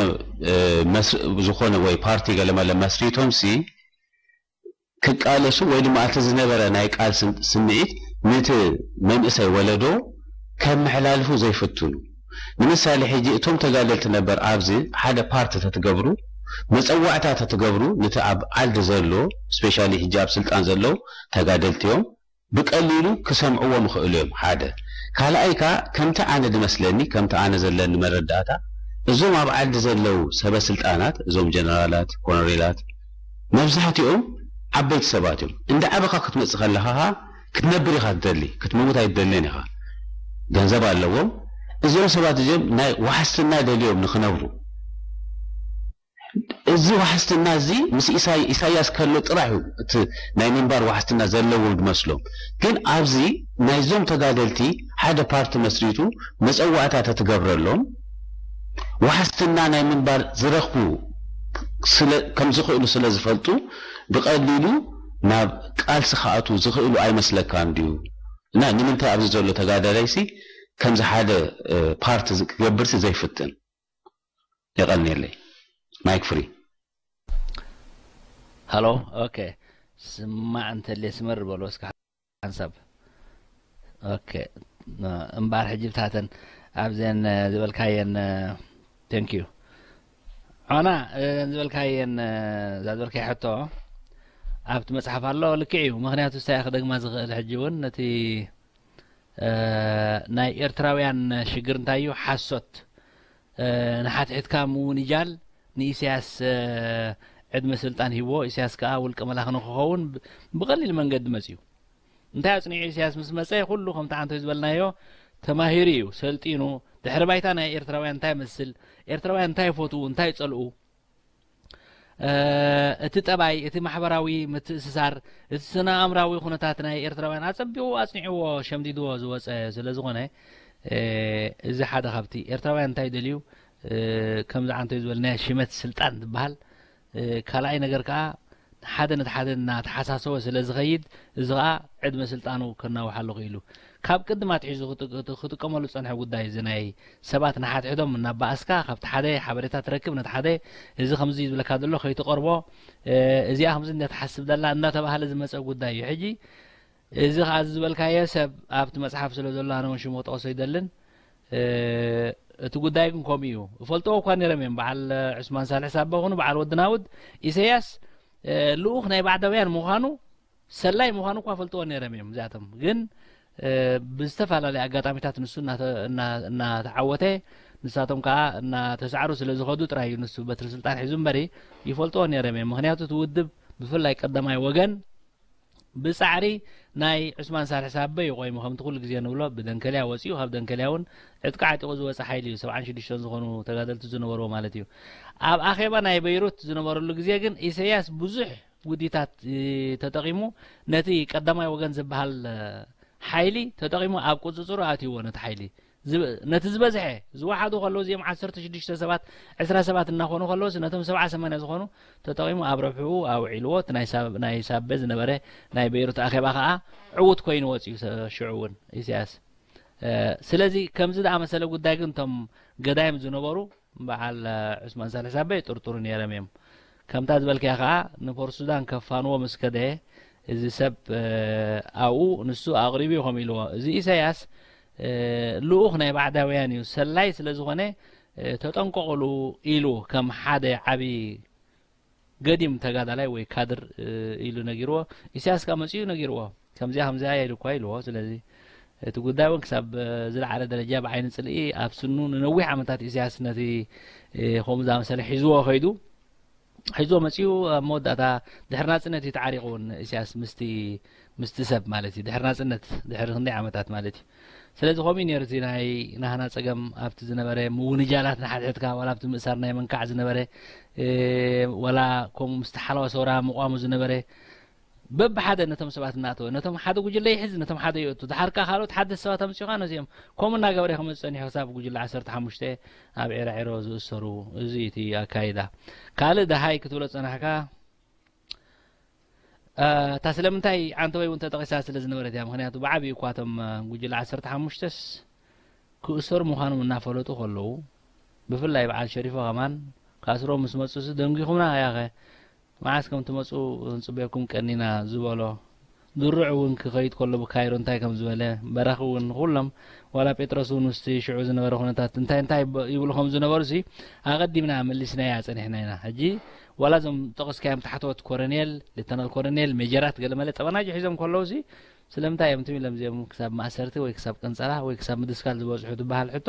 ዝኾነ ወይ ፓርቲ ገለመለ መስሪቶም ሲ ክቃለሱ ወይ ድማ እቲ ዝነበረ ናይ ቃል ስምዒት ንቲ መንእሰይ ወለዶ ከመሐላልፉ ዘይፍትኑ? ንምሳሌ ሕጂ እቶም ተጋደልቲ ነበር ኣብዚ ሓደ ፓርቲ ተትገብሩ መፀዋዕታ ተትገብሩ ንቲ ኣብ ዓዲ ዘሎ ስፔሻሊ ሕጂ ኣብ ስልጣን ዘለዉ ተጋደልቲ እዮም ብቀሊሉ ክሰምዕዎም ይኽእሉ እዮም ሓደ ካልኣይ ከኣ ከምቲ ኣነ ዝመስለኒ ከምቲ ኣነ ዘለኒ መረዳእታ እዞም ኣብ ዓዲ ዘለዉ ሰበ ስልጣናት እዞም ጀነራላት ኮነሬላት መብዛሕትኦም ዓበይቲ ሰባት እዮም እንዳ ዓበኻ ክትመጽእ ከለኻ ክትነብር ኢኻ ትደሊ ክትመውት ኣይትደልን ኢኻ ገንዘብ ኣለዎም እዚኦም ሰባት እዚኦም ናይ ዋሕስትና ደልዮም ንኽነብሩ እዚ ዋሕስትና እዚ ምስ ኢሳያስ ከሎ ጥራሕ እዩ እቲ ናይ ምንባር ዋሕስትና ዘለዎ ዝመስሎም ግን ኣብዚ ናይዞም ተጋደልቲ ሓደ ፓርቲ መስሪቱ መፀዋዕታ ተትገብረሎም ዋሕስትና ናይ ምንባር ዝረኽቡ ከም ዝኽእሉ ስለ ዝፈልጡ ብቐሊሉ ናብ ቃልሲ ክኣትዉ ዝኽእሉ ኣይመስለካን ድዩ እና ንምንታይ ኣብዚ ዘሎ ተጋዳላይሲ ከምዚ ሓደ ፓርቲ ክገብርሲ ዘይፍትን የቐንየለይ ማይክ ፍሪ ሃሎ ኦኬ ስማዕ እንተልየ ስመር በሎ እስከ ሓንሳብ ኦኬ እምባር ሕጂ ብታተን ኣብዘን ዝበልካየን thank you ዖና ዝበልካየን እዛ ዝበልካየ ሕቶ ኣብቲ መፅሓፍ ኣሎ ልክዕ እዩ ምክንያቱ ስታይ ክደግማ ዝኽእል ሕጂ እውን ነቲ ናይ ኤርትራውያን ሽግር እንታይ እዩ ሓሶት ንሓትሒትካ ምውንጃል ንኢሳያስ ዕድመ ስልጣን ሂብዎ ኢሳያስ ከዓ ውልቀ መላኺ ንክኸውን ብቀሊል መንገዲ መፅዩ እንታይ ኣፅኒዑ ኢሳያስ ምስ መፀ ኩሉ ከምቲ ዓንቶይ ዝበልናዮ ተማሂሩ እዩ ሰልጢኑ ድሕሪ ባይታ ናይ ኤርትራውያን እንታይ መስል ኤርትራውያን እንታይ ይፈትዉ እንታይ ይፀልኡ እቲ ጠባይ፣ እቲ ማሕበራዊ ምትእስሳር፣ እቲ ስነ-ኣእምራዊ ኩነታት ናይ ኤርትራውያን ኣጸቢቑ ኣጽኒዕዎ ሸምዲድዎ ዝወጸ ስለ ዝኾነ፣ እዚ ሓደ ካብቲ ኤርትራውያን እንታይ ይደልዩ፣ ከምዚ ዓንቶይ ዝበልናዮ ሽመት ስልጣን ዝበሃል፣ ካልኣይ ነገር ከኣ ሓደ ነቲ ሓደ እናተሓሳሰወ ስለ ዝኸይድ፣ እዚ ኸኣ ዕድመ ስልጣኑ ከናውሓሉ ክኢሉ። ካብ ቅድም ኣትሒዙ ክጥ-፣ ክጥ-፣ ክጥቀመሉ ዝጸንሐ ጉዳይ እዚ ናይ ሰባት ንሓድሕዶም እናባኣስካ፣ ካብቲ ሓደ ሓበሬታ ትረክብ፣ ነቲ ሓደ እዚ ከምዚ ዝብለካ ዘሎ ከይትቐርቦ፣ እ፣ እዚኣ ከምዚ እንዳ ትሓስብ ዘላ እንዳተባሃለ ዝመጸ ጉዳይ እዩ። ሕጂ እዚ ኸኣ እዚ ዝበልካዮ ሰብ ኣብቲ መጽሓፍ ስለ ዘሎ ኣነ እውን ሽሙ ክጠቕሶ ኣይደልን። እ፣ እቲ ጉዳይ ግን ከምኡ እዩ። እፈልጥዎ እኳ ነይሮም እዮም። በዓል ዑስማን ሳልሕ ሳባ ኹኑ በዓል ወዲ ናውድ፣ ኢሰያስ፣ እ፣ ልኡኽ ናይ ባዕዳውያን ምዃኑ፣ ሰላይ ምዃኑ እኳ ፈልጥዎ ነይሮም እዮም። እዚኣቶም ግን፣ እ፣ ብዝተፈላለየ ኣጋጣሚታት ንሱ እናተ-፣ እና-፣ እናተዓወተ፣ ንሳቶም ከኣ እናተሳዕሩ ስለ ዝኸዱ ጥራይ እዩ ንሱ በትሪ ስልጣን ሒዙ እምበሪ፣ ይፈልጥዎ ነይሮም እዮም። ምኽንያቱ እቲ ውድብ ብፍላይ ቀዳማይ ወገን ብጻዕሪ ናይ ዑስማን ሳልሕ ሳበ እዩ ቆይሙ፣ ከምቲ ኩሉ ግዜ ንብሎ፣ ብደንከልያ ወጺኡ፣ ካብ ደንከልያ እውን ዕጥቂ ዓጢቑ ዝወጸ ሓይሊ እዩ፣ ሰብዓን ሽዱሽተን ዝኾኑ ተጋደልቲ ዝነበርዎ ማለት እዩ። ኣብ ኣኼባ ናይ በይሩት ዝነበረሉ ግዜ ግን ኢሰያስ ብዙሕ ውዲታት፣ እ፣ ተጠቒሙ፣ ነቲ ቀዳማይ ወገን ዝበሃል፣ እ፣ ሓይሊ ተጠቒሙ ኣብ ቁጽጽሩ ኣትይዎ ነቲ ሓይሊ። ዝብ-፣ ነቲ ዝበዝሐ ዝወሓዱ ከለዉ፣ እዚኦም ዓሰርተ ሽዱሽተ ሰባት፣ ዕስራ ሰባት እናኾኑ ከለዉስ፣ ነቶም ሰብዓ ሰማንያ ዝኾኑ ተጠቒሙ ኣብ ረብሕኡ ኣውዒልዎ። እቲ ናይ ሳብ-፣ ናይ ሳበ ዝነበረ ናይ በይሩት ኣኼባ ኸኣ ዕዉት ኮይኑ ወጺኡ፣ ሰ-፣ ሽዑ እውን ኢሳያስ። እ፣ ስለዚ ከምዚ ዝኣመሰለ ጉዳይ ግን እቶም ገዳይም ዝነበሩ በዓል፣ እ፣ ዑስማን ሳልሕ ሳበ ይጥርጥሩ ነይሮም እዮም። ከምታ ዝበልካያ ኸኣ ንፖርት ሱዳን ከፋንዎ ምስ ከደ፣ እዚ ሰብ፣ እ፣ ኣብኡ ንሱ ኣቕሪቡ እዩ ከምኡ ኢልዎ። እዚ ኢሳያስ፣ እ፣ ልኡኽ ናይ ባዕዳውያን እዩ፣ ሰላይ ስለ ዝኾነ፣ እ፣ ተጠንቀቑሉ ኢሉ ከም ሓደ ዓቢ ገዲም ተጋዳላይ ወይ ካድር፣ እ፣ ኢሉ ነጊርዎ። ኢሳያስ ከኣ መጺኡ ነጊርዎ። ከምዚኣ ከምዚኣ እያ ኢሉ እኳ ኢልዎ። ስለዚ እቲ ጉዳይ እውን ክሳብ፣ እ፣ ዝለዓለ ደረጃ ብዓይኒ ጽልኢ ኣብ ስኑ ንነዊሕ ዓመታት ኢሳያስ ነቲ፣ እ፣ ከምኡ ዝኣመሰለ ሒዝዎ ከይዱ። ሒዝዎ መጺኡ ኣብ መወዳእታ ድሕሪ ናጽነት እዩ ተዓሪቑ እውን ኢሳያስ ምስቲ፣ ምስቲ ሰብ ማለት እዩ። ድሕሪ ናጽነት፣ ድሕሪ ክንደይ ዓመታት ማለት እዩ። ስለዚ ከምኡ እዩ ነይሩ እቲ ናይ ናህና ጸገም ኣብቲ ዝነበረ ምውንጃላት ንሓድሕድካ፣ ዋላ ኣብቲ ምእሳር ናይ መንካዕ ዝነበረ፣ እ፣ ዋላ ከምኡ ምስቲ ሓለዋ ሰውራ ምቋሙ ዝነበረ፣ በብሓደ ነቶም ሰባት እናእተወ፣ ነቶም ሓደ ጉጅለ ይሕዝ፣ ነቶም ሓደ ይእቱ። ድሓር ከኣ ካልኦት ሓደስቲ ሰባት ኣምጺኡ ከኣ ነዚኦም ከምኡ እናገበረ ክመጽእ ጸኒሑ፣ ክሳብ ጉጅለ ዓሰርተ ሓሙሽተ ኣብ ዒራዒሮ ዝእሰሩ። እዚ እዩ እቲ ኣካይዳ። ካልእ ደሃይ ክትብሎ ዝጸናሕካ፣ እ፣ እታ ስለምንታይ ዓንተወይ እውን ተጠቒሳ ስለ ዝነበረት እያ። ምኽንያቱ ብዓብዩ እኳ እቶም፣ እ፣ ጉጅለ ዓሰርተ ሓሙሽተስ ክእሰሩ ምዃኖም እናፈለጡ ከለዉ፣ ብፍላይ በዓል ሸሪፎ ከማን ክኣስርዎም ምስ መጹ፣ "ደንጒኹምና ያኸ፣ መዓስ ከም ትመጹ ክንጽበየኩም ቀኒና" ዝበሎ፣ ድሩዕ እውን ክኸይድ ከሎ ብካይሮ እንታይ ከም ዝበለ፣ በራኺ እውን፣ ኩሎም፣ ዋላ ጴጥሮስ እውን ምስቲ ሽዑ ዝነበረ ኩነታት እንታይ እንታይ ብ-፣ ይብሉ ከም ዝነበሩሲ ኣቐዲምና መሊስናያ ጸኒሕና ኢና። ሕጂ ዋላ እዞም ጠቐስካዮም ታሕተዎት ኮረኔል፣ ሌተናል ኮረኔል፣ ሜጀራት ገለመለ ጠበናጁ ሒዞም ከለዉሲ ስለምንታይ እዮም ትም ኢሎም እዚኦም ክሳብ ማእሰርቲ ወይ ክሳብ ቅንጸላ ወይ ክሳብ ምድስካል ዝበጽሑ ትበሃል ሕቶ፣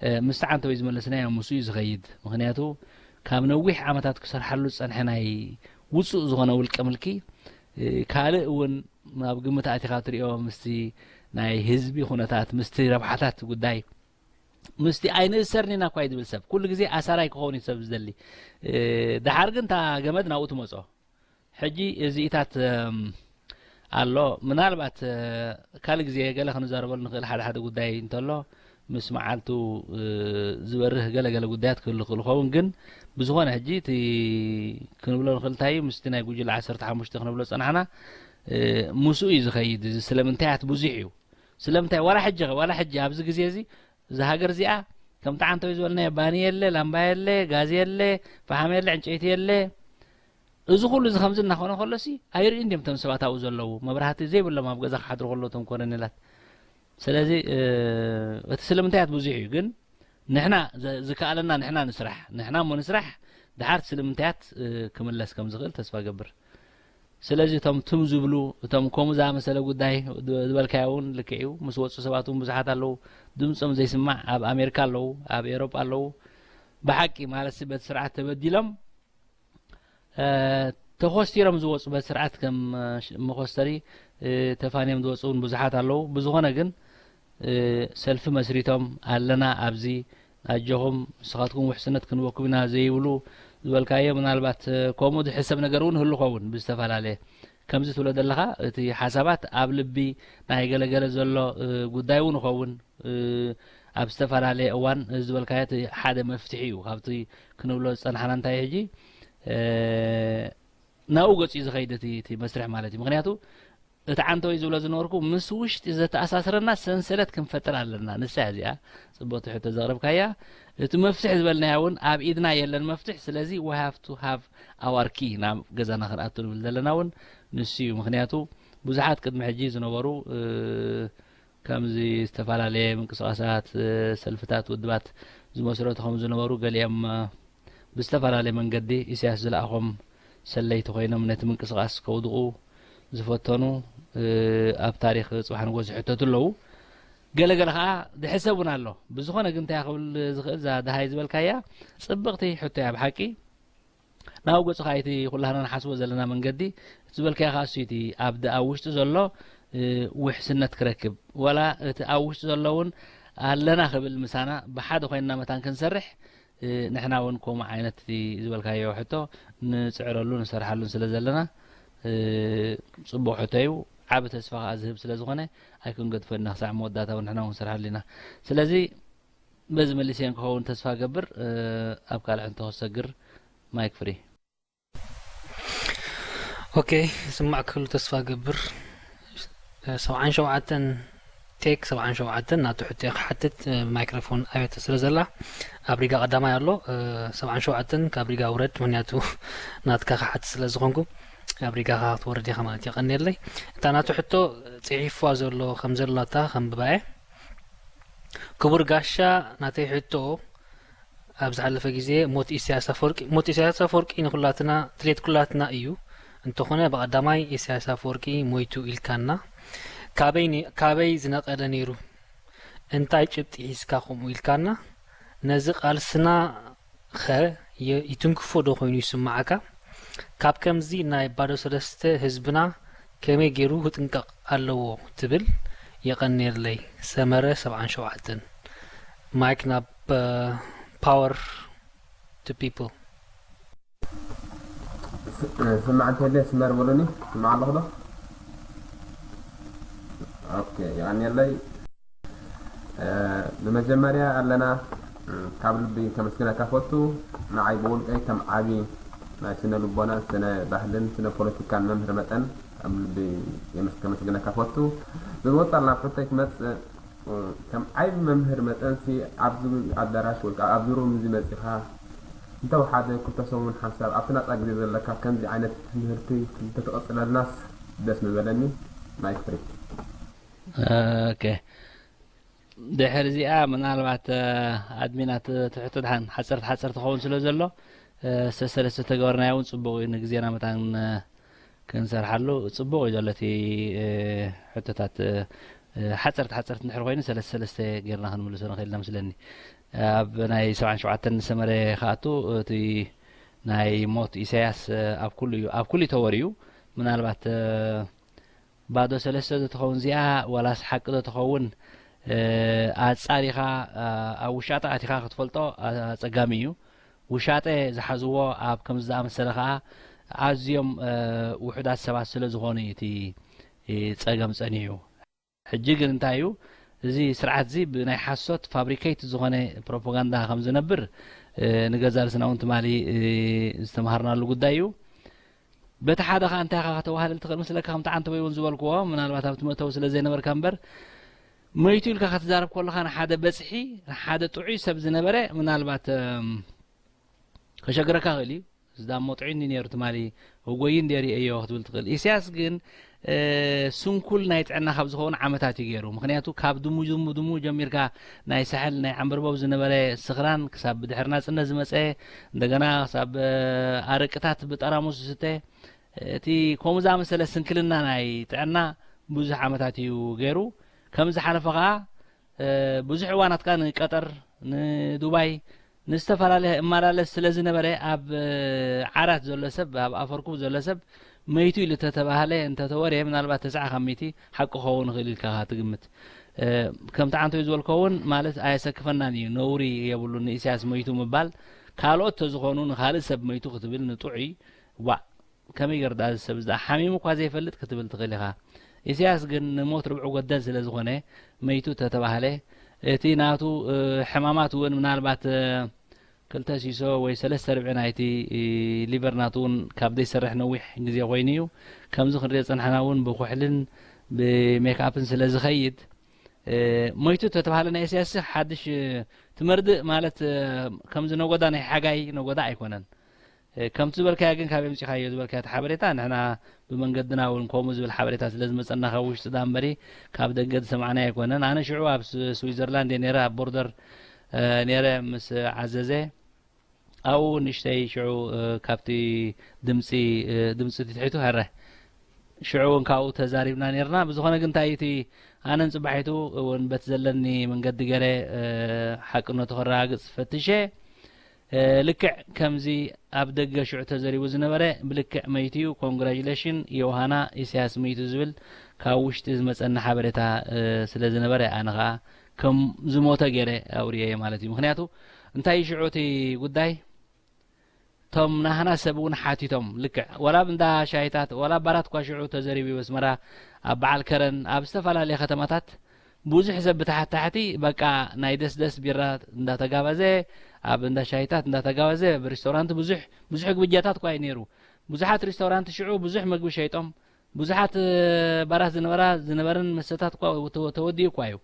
እ፣ ምስቲ ዓንተወይ ዝመለስናዮ ምስኡ እዩ ዝኸይድ። ምኽንያቱ ካብ ነዊሕ ዓመታት ክሰርሓሉ ዝጸንሐ ናይ ውጹእ ዝኾነ ውልቀ ምልኪ፣ እ፣ ካልእ እውን ኣብ ግምት ኣቲኻ ትሪኦ ምስቲ ናይ ህዝቢ ኩነታት፣ ምስቲ ረብሓታት ጉዳይ፣ ምስቲ ኣይንእሰርን ኢና እኳ እዩ ዝብል ሰብ፣ ኩሉ ግዜ ኣሳራይ ክኸውን እዩ ሰብ ዝደሊ። እ፣ ደሓር ግን እታ ገመድ ናብኡ ትመጾ። ሕጂ እዚኢታት፣ እም፣ ኣሎ። ምናልባት፣ እ፣ ካልእ ግዜ ገለ ክንዛረበሉ ንኽእል ሓደ ሓደ ጉዳይ እንተሎ፣ ምስ መዓልቱ፣ እ፣ ዝበርህ ገለ ገለ ጉዳያት ክህሉ ይኽእል ይኸውን። ግን ብዝኾነ ሕጂ እቲ ክንብሎ ንኽእል እንታይ እዩ፣ ምስቲ ናይ ጉጅለ ዓሰርተ ሓሙሽተ ክንብሎ ዝጸናሕና፣ እ፣ ምስኡ እዩ ዝኸይድ። እዚ ስለምንታያት ብዙሕ እዩ። ስለምንታይ ዋላ ሕጂ ኸ፣ ዋላ ሕጂ ኣብዚ ግዜ እዚ እዛ ሃገር እዚኣ ከምቲ ዓንተወይ ዝበልናዮ ባኒ የለ፣ ላምባ የለ፣ ጋዝ የለ፣ ፈሓም የለ፣ ዕንጨይቲ የለ። እዚ ኩሉ እዚ ከምዚ እናኾነ ከሎሲ ኣይርእዩን ድዮም እቶም ሰባት ኣብኡ ዘለዉ፣ መብራህቲ ዘይብሎም ኣብ ገዛ ክሓድሩ ከለዉ እቶም ኮረኔላት። ስለዚ፣ እ፣ እቲ ስለምንታያት ብዙሕ እዩ፣ ግን ንሕና ዘ-፣ ዝከኣለና ንሕና ንስራሕ። ንሕና እሞ ንስራሕ፣ ደሓር እቲ ስለምንታያት፣ እ፣ ክምለስ ከም ዝኽእል ተስፋ እገብር። ስለዚ እቶም ትም ዝብሉ፣ እቶም ከምኡ ዝኣመሰለ ጉዳይ ድ-፣ ዝበልካዮ እውን ልክዕ እዩ። ምስ ወጹ ሰባት እውን ብዙሓት ኣለዉ። ድምጾም ዘይስማዕ ኣብ ኣሜሪካ ኣለዉ፣ ኣብ ኤውሮጳ ኣለዉ። ብሓቂ ማለትሲ በቲ ስርዓት ተበዲሎም፣ እ፣ ተኾስቲሮም ዝወጹ በቲ ስርዓት ከም፣ እ፣ ሽ-፣ መኾስተሪ፣ እ፣ ተፋንዮም ዝወጹ እውን ብዙሓት ኣለዉ። ብዝኾነ ግን፣ እ፣ ሰልፊ መስሪቶም ኣለና ኣብዚ ኣጆኹም ንስኻትኩም ውሕስነት ክንበኩም ኢና ዘይብሉ ዝበልካዮ፣ ምናልባት፣ እ፣ ከምኡ ዝሕሰብ ነገር እውን ህሉ ኸውን ብዝተፈላለየ። ከምዚ ትብሎ ዘለኻ እቲ ሓሳባት ኣብ ልቢ ናይ ገለገለ ዘሎ፣ እ፣ ጉዳይ እውን ይኸውን። እ፣ ኣብ ዝተፈላለየ እዋን እዚ ዝበልካዮ እቲ ሓደ መፍትሒ እዩ። ካብቲ ክንብሎ ዝጸናሕና እንታይ ሕጂ፣ እ፣ ናብኡ ገጹ እዩ ዝኸይድ እቲ እቲ መስርሕ ማለት እዩ። ምኽንያቱ እቲ ዓንተወይ ዝብሎ ዝነበርኩ ምስ ውሽጢ ዘተኣሳስረና ሰንሰለት ክንፈጥር ኣለና። ንሳ እያ እዚኣ ጽቡቕቲ ሕቶ ዘቕረብካያ። እቲ መፍትሕ ዝበልናያ እውን ኣብ ኢድና የለን መፍትሕ። ስለዚ we have to have our key ናብ ገዛና ክንኣቱ ንብል ዘለና እውን ንሱ እዩ። ምኽንያቱ ብዙሓት ቅድሚ ሕጂ ዝነበሩ ከምዚ ዝተፈላለየ ምንቅስቓሳት፣ ሰልፍታት፣ ውድባት ዝመስረቱ ከም ዝነበሩ ገሊኦም ብዝተፈላለየ መንገዲ ኢሳያስ ዝለኣኾም ሰለይቲ ኮይኖም ነቲ ምንቅስቓስ ከውድቑ ዝፈተኑ ኣብ ታሪኽ ጽባሕ ንጎ ዝሕተቱ ኣለዉ። ገለገለ ከዓ ድሕሰብ እውን ኣሎ። ብዝኾነ ግን እንታይ ክብል ዝኽእል እዛ ደሃይ ዝበልካያ ጽብቕቲ ሕቶ እያ ብሓቂ። ናብ ገጹ ከዓ እቲ ኩላህና ንሓስቦ ዘለና መንገዲ እቲ ዝበልካዮ ከዓ እሱ እቲ ኣብ ድ- ኣብ ውሽጢ ዘሎ ውሕስነት ክረክብ፣ ዋላ እቲ ኣብ ውሽጢ ዘሎ እውን ኣለና ክብል ምሳና ብሓደ ኮይንና መታን ክንሰርሕ ንሕና እውን ከምኡ ዓይነት እቲ ዝበልካዮ ሕቶ ንፅዕረሉ ንሰርሓሉን ስለ ዘለና ጽቡቕ ሕቶ እዩ። ዓቢ ተስፋ ከዓ ዝህብ ስለ ዝኾነ ኣይክንገድፎ ኢና። ክሳዕ መወዳእታ እውን ንሕና እውን ክንሰርሓሉ ኢና። ስለዚ በዚ መሊሰ ክኸውን ተስፋ ገብር። ኣብ ካልእ ሕቶ ክሰግር ማይክ ፍሪ። ኦኬ፣ ስማዕ ክህሉ ተስፋ ገብር። ሰብዓን ሸውዓተን ቴክ ሰብዓን ሸውዓተን ናቱ ሕቶ ክሓትት ማይክሮፎን ኣቤት ስለ ዘላ ኣብ ሪጋ ቀዳማይ ኣሎ። ሰብዓን ሸውዓተን ካብ ሪጋ ውረድ፣ ምክንያቱ ናትካ ክሓትት ስለ ዝኾንኩ ኣብ ሪጋ ክትወርድ ኢኻ ማለት የቐንየለይ። እታ ናቱ ሕቶ ጽሒፍዋ ዘሎ ከም ዘላታ ከም ብባየ ክቡር ጋሻ ናተይ ሕቶ ኣብ ዝሓለፈ ግዜ ሞት ኢሳያስ ኣፈወርቂ ሞት ኢሳያስ ኣፈወርቂ ንኩላትና ድሌት ኩላትና እዩ። እንተኾነ ብቐዳማይ ኢሳያስ ኣፈወርቂ ሞይቱ ኢልካና ካበይ ነ- ካበይ ዝነቐለ ነይሩ እንታይ ጭብጢ ሒዝካ ከምኡ ኢልካና ነዚ ቃልስና ኸ የ- ይትንክፎ ዶ ኮይኑ ይስምዓካ? ካብ ከምዚ ናይ ባዶ ሰለስተ ህዝብና ከመይ ገይሩ ክጥንቀቕ ኣለዎ ትብል? የቐንየለይ። ሰመረ ሰብዓን ሸውዓተን ማይክ ናብ power to people ስማዕ እንተለ ስመር በሉኒ ስማዕ ኣለኹ ዶ ኦኬ የቐንየለይ ብመጀመርያ ኣለና ካብ ልቢ ከመስግነካ ፈቱ ንዓይ ብውልቀይ ከም ዓቢ ናይ ስነ ልቦና ስነ ባህልን ስነ ፖለቲካን መምህር መጠን ካብ ልቢ ከመስግነካ ፈቱ ብመወፃል ናብ ሕቶይ ክመፅእ ከም ዓይቢ መምህር መጠንሲ ኣብዚ ኣዳራሽ ወይ ከዓ ኣብዚ ሩም እዚ መፂኻ እንተወሓደ ክልተ ሰሙን ሓንሳብ ኣብቲ ናፃ ግዜ ዘለካ ከምዚ ዓይነት ትምህርቲ እንተትቐፅለልናስ ደስ ምበለኒ። ማይክ ፍሪ። ኦኬ ድሕር እዚኣ ምናልባት ኣድሚናት ትሕቶ ድሓን ሓፀርቲ ሓፀርቲ ክኸውን ስለ ዘሎ ሰሰለስተ ተገበርናዮ እውን ፅቡቕ እዩ ንግዜና መታን ክንሰርሓሉ ጽቡቕ እዩ ዘሎ እቲ ሕቶታት ሓፀርቲ ሓፀርቲ እንድሕር ኮይኑ ሰለስተ ሰለስተ ጌርና ክንምልሶ ንኽእል ኢና መስለኒ ኣብ ናይ ሰብዓን ሸውዓተን ዝሰመረ ክኣቱ እቲ ናይ ሞት ኢሳያስ ኣብ ኩሉ እዩ ኣብ ኩሉ ተወር እዩ ምናልባት ባዶ ሰለስተ ዶ ትኸውን እዚኣ ዋላስ ሓቂ ዶ ትኸውን ኣጻሪኻ ኣብ ውሻጠ ኣቲኻ ክትፈልጦ ኣጸጋሚ እዩ ውሻጠ ዝሓዝዎ ኣብ ከምዚ ዝኣመሰለ ከኣ ኣዝዮም ውሑዳት ሰባት ስለ ዝኾኑ እዩ እቲ ጸገም ጸኒሑ። ሕጂ ግን እንታይ እዩ እዚ ስርዓት እዚ ብናይ ሓሶት ፋብሪኬት ዝኾነ ፕሮፓጋንዳ ከም ዝነብር ንገዛ ርስና እውን ትማሊ ዝተምሃርናሉ ጉዳይ እዩ። በቲ ሓደ ከዓ እንታይ ኢኻ ከተዋህልል ትኽእል መስለካ ከምቲ ዓንተቦይ እውን ዝበልክዎ ምናልባት ኣብቲ መእተዊ ስለ ዘይነበርካ እምበር መይቱ ኢልካ ክትዛረብ ከለኻ ንሓደ በፅሒ ንሓደ ጥዑይ ሰብ ዝነበረ ምናልባት ከሸግረካ ክእል እዩ። እዚ ዳሞ ጥዑይ እንዲ ነይሩ ትማሊ እጎይ እንዲ ርእየዮ ክትብል ትኽእል። ኢሳያስ ግን ስንኩል ናይ ጥዕና ካብ ዝኸውን ዓመታት እዩ ገይሩ። ምክንያቱ ካብ ድሙ ድሙ ድሙ ጀሚርካ ናይ ሳሕል ናይ ዓንበርበብ ዝነበረ ስኽራን ክሳብ ብድሕሪ ናጽነት ዝመጸ እንደገና ክሳብ ኣረቅታት ብጠራሙስ ዝስተ እቲ ከምኡ ዝኣመሰለ ስንክልና ናይ ጥዕና ብዙሕ ዓመታት እዩ ገይሩ። ከም ዝሓለፈ ከኣ ብዙሕ እዋናት ከኣ ንቀጠር ንዱባይ ንዝተፈላለየ እመላለስ ስለ ዝነበረ ኣብ ዓራት ዘሎ ሰብ ኣብ ኣፈርኩብ ዘሎ ሰብ መይቱ ኢሉ ተተባህለ እንተተወርየ ምናልባት ተስዓ ካብ ሚእቲ ሓቂ ክኸውን ይኽእል ኢልካ ትግምት። ከምቲ ዓንቶይ ዝበልኮ እውን ማለት ኣየሰክፈናን እዩ ነውሪ የብሉን ንኢሳያስ መይቱ ምባል ካልኦት ተዝኾኑ ንኻልእ ሰብ መይቱ ክትብል ንጥዑይ ዋእ ከመይ ገይሩ ደኣ እዚ ሰብ እዚ ደኣ ሓሚሙ እኳ ዘይፈልጥ ክትብል ትኽእል ኢኻ። ኢሳያስ ግን ንሞት ርብዑ ጎደል ስለ ዝኾነ መይቱ ተተባህለ እቲ ናቱ ሕማማት እውን ምናልባት ክልተ ሲሶ ወይ ሰለስተ ርብዒ ናይቲ ሊቨር ናቱ እውን ካብ ዘይሰርሕ ነዊሕ ግዜ ኮይኑ እዩ። ከምዚ ክንሪኦ ዝጸናሕና እውን ብኩሕልን ብሜክኣፕን ስለ ዝኸይድ፣ እ፣ ሞይቱ ተተባህለ ናይ ኢሳያስ ሓድሽ፣ እ፣ ትመርድእ ማለት፣ እ፣ ከምዚ ነጎዳ ናይ ሓጋይ ነጎዳ ኣይኮነን። እ፣ ከምቲ ዝበልካዮ ግን ካበይ ኣምጺኻዮ ዝበልካዮ እቲ ሓበሬታ ንሕና ብመንገድና እውን ከምኡ ዝብል ሓበሬታ ስለ ዝመጸና ካብ ውሽጢ ዳ እምበሪ ካብ ደገ ዝሰማዕናዮ ኣይኮነን። ኣነ ሽዑ ኣብ ስ-፣ ስዊዘርላንድ እየ ነይረ፣ ኣብ ቦርደር፣ እ፣ ነይረ ምስ ዓዘዘ። ኣብኡ ንእሽተይ ሽዑ፣ እ፣ ካብቲ ድምጺ፣ እ፣ ድምጺ ትትሒቱ ሀረ። ሽዑ እውን ካብኡ ተዛሪብና ነይርና። ብዝኾነ ግን እንታይ እቲ ኣነን ጽባሒቱ እውን በቲ ዘለኒ መንገዲ ገይረ፣ እ፣ ሓቅነቱ ከረጋግጽ ፈትሸ። እ፣ ልክዕ ከምዚ ኣብ ደገ ሽዑ ተዘሪቡ ዝነበረ ብልክዕ መይቱ እዩ። ኮንግራጁሌሽን ዮውሃና፣ ኢሳያስ መይቱ ዝብል ካብ ውሽጢ ዝመጸኒ ሓበሬታ፣ እ፣ ስለ ዝነበረ ኣነ ኸኣ ከም ዝሞተ ገይረ ኣውርየዮ ማለት እዩ። ምኽንያቱ እንታይ እዩ ሽዑ እቲ ጉዳይ? ቶም ናህና ሰብ እውን ሓቲቶም፣ ልክዕ ዋላ ኣብ እንዳ ሻሂታት ዋላ ባራት እኳ ሽዑ ተዘሪቡ እዩ። ኣስመራ፣ ኣብ በዓል ከረን፣ ኣብ ዝተፈላለየ ከተማታት ብዙሕ ሰብ ብታሕቲ ታሕቲ በቃ ናይ ደስደስ ቢራ እንዳተጋበዘ፣ ኣብ እንዳ ሻሂታት እንዳተጋበዘ፣ ኣብ ሪስቶራንት ብዙሕ፣ ብዙሕ ግብጃታት እኳ እዩ ነይሩ። ብዙሓት ሪስቶራንት ሽዑ ብዙሕ መግቢ ሸይጦም፣ ብዙሓት፣ እ፣ ባራት ዝነበራ፣ ዝነበረን መስተታት እኳ ተወ-፣ ተወዲኡ እኳ እዩ።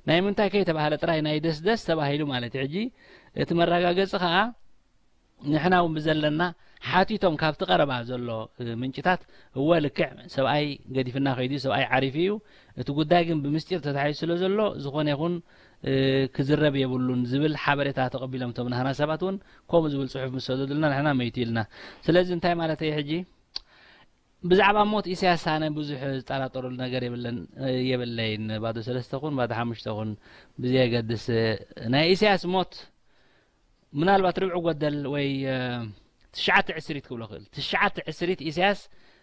ናይ ምንታይ ከይተባህለ ጥራይ ናይ ደስደስ ተባሂሉ ማለት እዩ። ሕጂ እቲ መረጋገጺ ኸኣ ንሕና እውን ብዘለና ሓቲቶም ካብቲ ቀረባ ዘሎ፣ እ፣ ምንጭታት፣ እወ ልክዕ ሰብኣይ ገዲፍና ከይዱ፣ ሰብኣይ ዓሪፉ እዩ። እቲ ጉዳይ ግን ብምስጢር ተታሒዙ ስለ ዘሎ ዝኾነ ይኹን፣ እ፣ ክዝረብ የብሉን ዝብል ሓበሬታ ተቐቢሎም እቶም ናህና ሰባት እውን ከምኡ ዝብል ጽሑፍ ምስ ሰደዱልና ንሕና መይቱ ኢልና። ስለዚ እንታይ ማለት እየ ሕጂ? ብዛዕባ ሞት ኢሳያስ ኣነ ብዙሕ ዝጠራጠረሉ ነገር የብለን፣ የብለይን። ባዶ ሰለስተ ኩን ባዶ ሓሙሽተ ኩን ብዘየገድስ፣ ናይ ኢሳያስ ሞት ምናልባት ርብዒ ጎደል ወይ፣ እ፣ ትሽዓተ ዕስሪት ክብሎ ክእል። ትሽዓተ ዕስሪት ኢሳያስ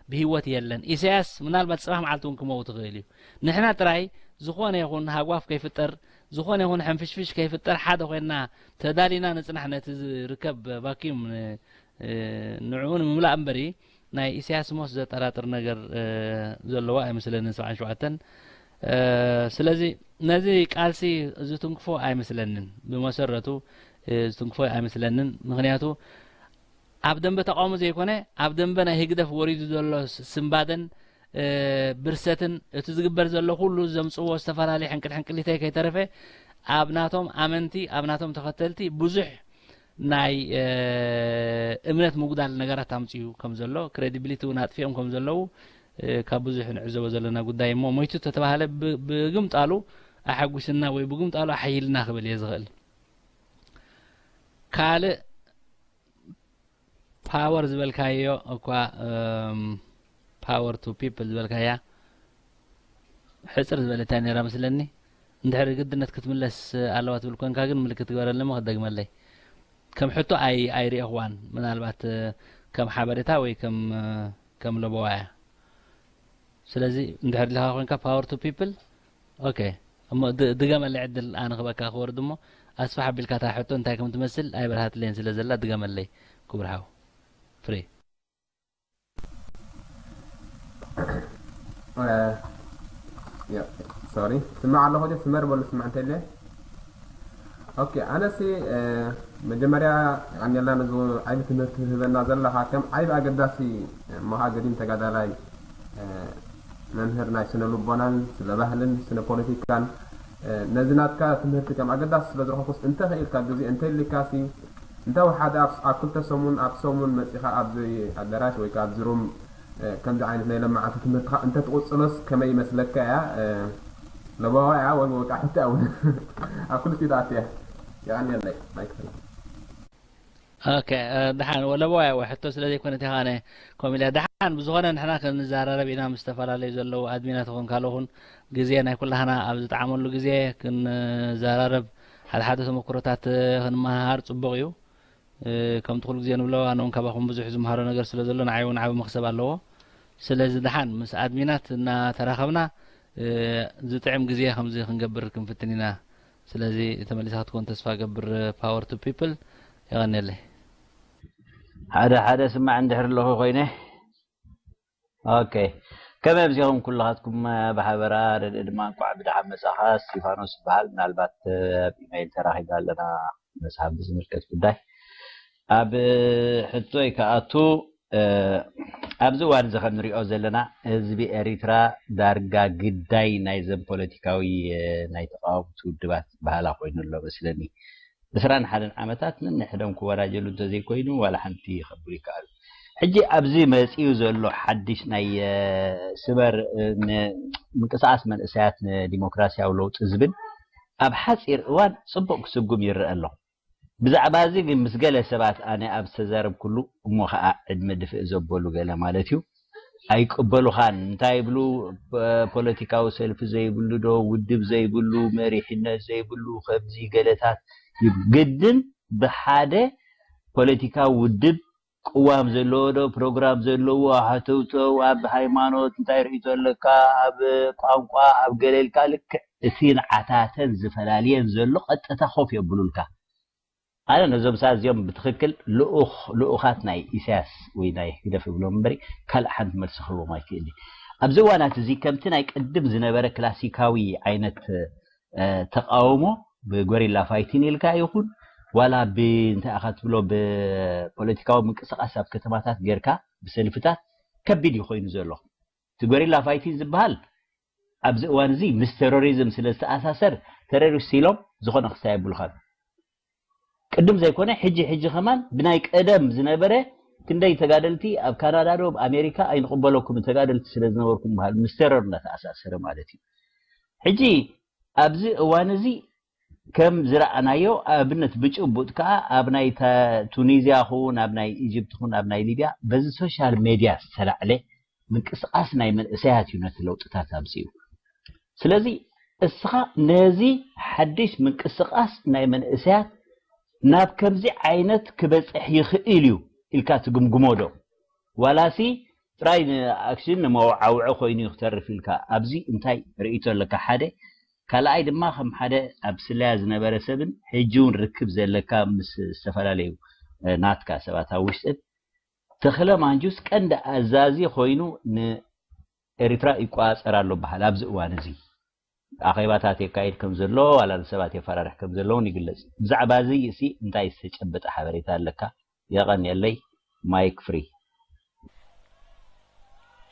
ብህይወት የለን። ኢሳያስ ምናልባት ጽባሕ መዓልቲ እውን ክመውት ይኽእል እዩ። ንሕና ጥራይ ዝኾነ ይኹን ሃጓፍ ከይፍጠር፣ ዝኾነ ይኹን ሕንፍሽፍሽ ከይፍጠር ሓደ ኮይንና ተዳሊና ንጽናሕ ነቲ ዝርከብ ቫክዩም ን-፣ እ፣ ንዕኡ ንምምላእ እምበሪ ናይ ኢሳያስ ሞት ዘጠራጥር ነገር፣ እ፣ ዘለዎ ኣይመስለንን። ሰብዓን ሸውዓተን፣ እ፣ ስለዚ ነዚ ቃልሲ ዝትንክፎ ኣይመስለንን። ብመሰረቱ፣ እ፣ ዝትንክፎ ኣይመስለንን። ምኽንያቱ ኣብ ደንበ ተቃውሞ ዘይኮነ፣ ኣብ ደንበ ናይ ህግደፍ ወሪዱ ዘሎ ስ-፣ ስንባደን፣ እ፣ ብርሰትን፣ እቲ ዝግበር ዘሎ ኩሉ ዘምጽዎ ዝተፈላለየ ሕንቅል ሕንቅሊተይ ከይተረፈ ኣብ ናቶም ኣመንቲ፣ ኣብ ናቶም ተኸተልቲ ብዙሕ ናይ፣ እ፣ እምነት ምጉዳል ነገራት ኣምጽኡ ከም ዘሎ፣ ክሬዲቢሊቲ እውን ኣጥፊኦም ከም ዘለዉ፣ እ፣ ካብ ብዙሕ ንዕዘቦ ዘለና ጉዳይ እሞ፣ ሞይቱ ተተባህለ ብ-፣ ብግምጣሉ ኣሐጒስና ወይ ብግምጣሉ ኣሐይልና ክብል እየ ዝኽእል። ካልእ ፓወር ዝበልካዮ እኳ፣ እም፣ ፓወር ቱ ፒፕል ዝበልካያ ሕጽር ዝበለት እያ ነይራ መስለኒ። እንድሕሪ ግድነት ክትምለስ ኣለዋ ትብል ኮንካ ግን ምልክት ግበረለይ እሞ ክደግመለይ። ከም ሕቶ ኣይ-፣ ኣይርእኹዋን። ምናልባት፣ እ፣ ከም ሓበሬታ ወይ ከም፣ እ፣ ከም ለበዋ እያ። ስለዚ እንድሕር ኢልካ ኮንካ ፓወር ቱ ፒፕል፣ ኦኬ። እሞ ድ-፣ ድገመለይ ዕድል ኣነ ክበካ ክወርድ እሞ ኣስፋሕ ኣቢልካ እታ ሕቶ እንታይ ከም ትመስል ኣይበርሃትለይን ስለ ዘላ ድገመለይ ክቡር ሓው። ፍሬ። እ፣ ያ፣ ሶሪ፣ ስማዕ ኣለኹ ዶ? ስመር በሉ፣ ስማዕ እንተለ። ኦኬ፣ ኣነሲ፣ እ፣ መጀመርያ የቐንየልና ነዚ ዓቢ ትምህርቲ ትህበና ዘለኻ። ከም ዓቢ ኣገዳሲ መውሃ ገዲም ተጋዳላይ፣ እ፣ መምህር ናይ ስነ ልቦናን ስነ ባህልን ስነ ፖለቲካን፣ እ፣ ነዚ ናትካ ትምህርቲ ከም ኣገዳሲ ስለ ዝረኸብኩስ፣ እንተ ኽኢልካ ግዜ እንተ ኢልካሲ፣ እንተ ወሓደ ኣብ፣ ኣብ ክልተ ሰሙን፣ ኣብ ሰሙን መጺኻ ኣብዚ ኣዳራሽ ወይ ከኣ ኣብዚ ሩም፣ እ፣ ከምዚ ዓይነት ናይ ለማዓንቲ ትምህርትኻ እንተ ትቕጽሎስ ከመይ ይመስለካ እያ? እ፣ ለበዋ እያ ወይ ወቃ ሕቶ እውን ኣብ ክልቲኡ ትኣቱ እያ። የቐንየለይ። ማይክ ፍሪ። ኦኬ፣ እ፣ ደሓን ወለበዋ እያ ወይ ሕቶ ስለ ዘይኮነት እያ ኣነ ከምኡ ኢለ። ደሓን ብዝኾነ ንሕና ክንዘራረብ ኢና ምስ ዝተፈላለዩ ዘለዉ ኣድሚናት ይኹን ካልኦት እውን ግዜ ናይ ኩላህና ኣብ ዝጠዓመሉ ግዜ ክንዘራረብ ሓደ ሓደ ተመክሮታት ክንመሃሃር ጽቡቕ እዩ። እ፣ ከምቲ ኩሉ ግዜ ንብሎ ኣነ እውን ካባኹም ብዙሕ ዝመሃሮ ነገር ስለ ዘሎ ንዓይ እውን ዓቢ መኽሰብ ኣለዎ። ስለዚ ደሓን ምስ ኣድሚናት እናተራኸብና፣ እ፣ ዝጥዕም ግዜ ከምዚ ክንገብር ክንፍትን ኢና። ስለዚ ተመሊስካ ክትኮን ተስፋ ገብር። ፓወር ቱ ፒፕል። የቐንየለይ። ሓደ ሓደ ስማዕ እንድሕር ኣለኹ ኮይነ። ኦኬ። ከመይ ኣምሲኹም ኩልኻትኩም ብሓበራ፣ ረድእ ድማ እንቋዕ ብደሓን መጻኻ። እስቲፋኖስ ይበሃል። ምናልባት ኣብ ኢመይል ተራኺባ ኣለና መጽሓፍ ብዝምልከት ጉዳይ። ኣብ ሕቶይ ክኣቱ፣ ኣብዚ እዋን እዚ ከም ንሪኦ ዘለና ህዝቢ ኤሪትራ ዳርጋ ግዳይ ናይዘን ፖለቲካዊ ናይ ተቃወምቲ ውድባት ባህላ ኮይኑ ኣሎ መስለኒ። ዕስራን ሓደን ዓመታት ነንሕዶም ክወራጀሉ እንተዘይኮይኑ ዋላ ሓንቲ ከብሉ ይከኣሉ። ሕጂ ኣብዚ መፂኡ ዘሎ ሓድሽ ናይ ስበር ምንቅስቃስ መንእሰያት ንዲሞክራሲያዊ ለውጢ ዝብል ኣብ ሓፂር እዋን ፅቡቅ ክስጉም ይረአ ኣሎ። ብዛዕባ እዚ ግን ምስ ገለ ሰባት ኣነ ኣብ ዝተዛረብኩሉ እሞ ከዓ ዕድመ ድፍእ ዘበሉ ገለ ማለት እዩ ኣይቅበሉኻን። እንታይ ይብሉ? ፖለቲካዊ ሰልፊ ዘይብሉ ዶ ውድብ ዘይብሉ መሪሕነት ዘይብሉ ከምዚ ገለታት ይብሉ። ግድን ብሓደ ፖለቲካዊ ውድብ ቅዋም ዘለዎ ዶ ፕሮግራም ዘለዎ ሃተውተው ኣብ ሃይማኖት እንታይ ርእቶ ኣለካ ኣብ ቋንቋ ኣብ ገለልካ ልክዕ እቲ ንዓታተን ዝፈላልየን ዘሎ ቀጥታ ኮፍ የብሉልካ። ኣነ ነዞም ሰባት እዚኦም ብትኽክል ልኡኽ ልኡኻት ናይ ኢሳያስ ወይ ናይ ህግደፍ እብሎም እምበሪ ካልእ ሓንቲ መልሲ ክህቦም ኣይክእል። ኣብዚ እዋናት እዚ ከምቲ ናይ ቅድም ዝነበረ ክላሲካዊ ዓይነት ተቃውሞ ብጎሪላ ፋይቲን ኢልካ ይኹን ዋላ ብእንታይ ኢኻ ትብሎ ብፖለቲካዊ ምንቅስቃስ ኣብ ከተማታት ጌርካ ብሰልፍታት ከቢድ እዩ ኮይኑ ዘሎ። እቲ ጎሪላ ፋይቲን ዝበሃል ኣብዚ እዋን እዚ ምስ ቴሮሪዝም ስለ ዝተኣሳሰር ተሮሪስት ኢሎም ዝኾነ ክስታይ የብሉኻን። ቅድም ዘይኮነ ሕጂ ሕጂ ከማን ብናይ ቀደም ዝነበረ ክንደይ ተጋደልቲ ኣብ ካናዳ ዶ ኣብ ኣሜሪካ ኣይንቕበለኩም ተጋደልቲ ስለ ዝነበርኩም በሃል ምስ ቴሮር እናተኣሳሰረ ማለት እዩ። ሕጂ ኣብዚ እዋን እዚ ከም ዝረኣናዮ ኣብነት ብጭቡጥ ከዓ ኣብ ናይ ቱኒዝያ ኹን ኣብ ናይ ኢጅፕት ኹን ኣብ ናይ ሊብያ በዚ ሶሻል ሜድያ ዝተላዕለ ምንቅስቃስ ናይ መንእሰያት እዩ ነቲ ለውጥታት ኣምፅኡ። ስለዚ እስኻ ነዚ ሓድሽ ምንቅስቃስ ናይ መንእሰያት ናብ ከምዚ ዓይነት ክበፅሕ ይኽእል እዩ ኢልካ ትግምግሞ ዶ? ዋላሲ ጥራይ ንኣክሽን ንመወዓውዒ ኮይኑ እዩ ክተርፍ ኢልካ ኣብዚ እንታይ ርእይቶ ኣለካ? ሓደ ካልኣይ ድማ ከም ሓደ ኣብ ስለያ ዝነበረ ሰብን ሕጂ እውን ርክብ ዘለካ ምስ ዝተፈላለዩ ናትካ ሰባት ኣብ ውሽጥን ተኽለ ማንጁስ ቀንዲ ኣዛዚ ኮይኑ ንኤሪትራ ይቆፃፀር ኣሎ በሃል ኣብዚ እዋን እዚ ኣኼባታት የካይድ ከም ዘሎ ዋላ ንሰባት የፈራርሕ ከም ዘሎ እውን ይግለጽ። ብዛዕባ እዚ እሲ እንታይ ዝተጨበጠ ሓበሬታ ኣለካ? የቐንየለይ። ማይክ ፍሪ።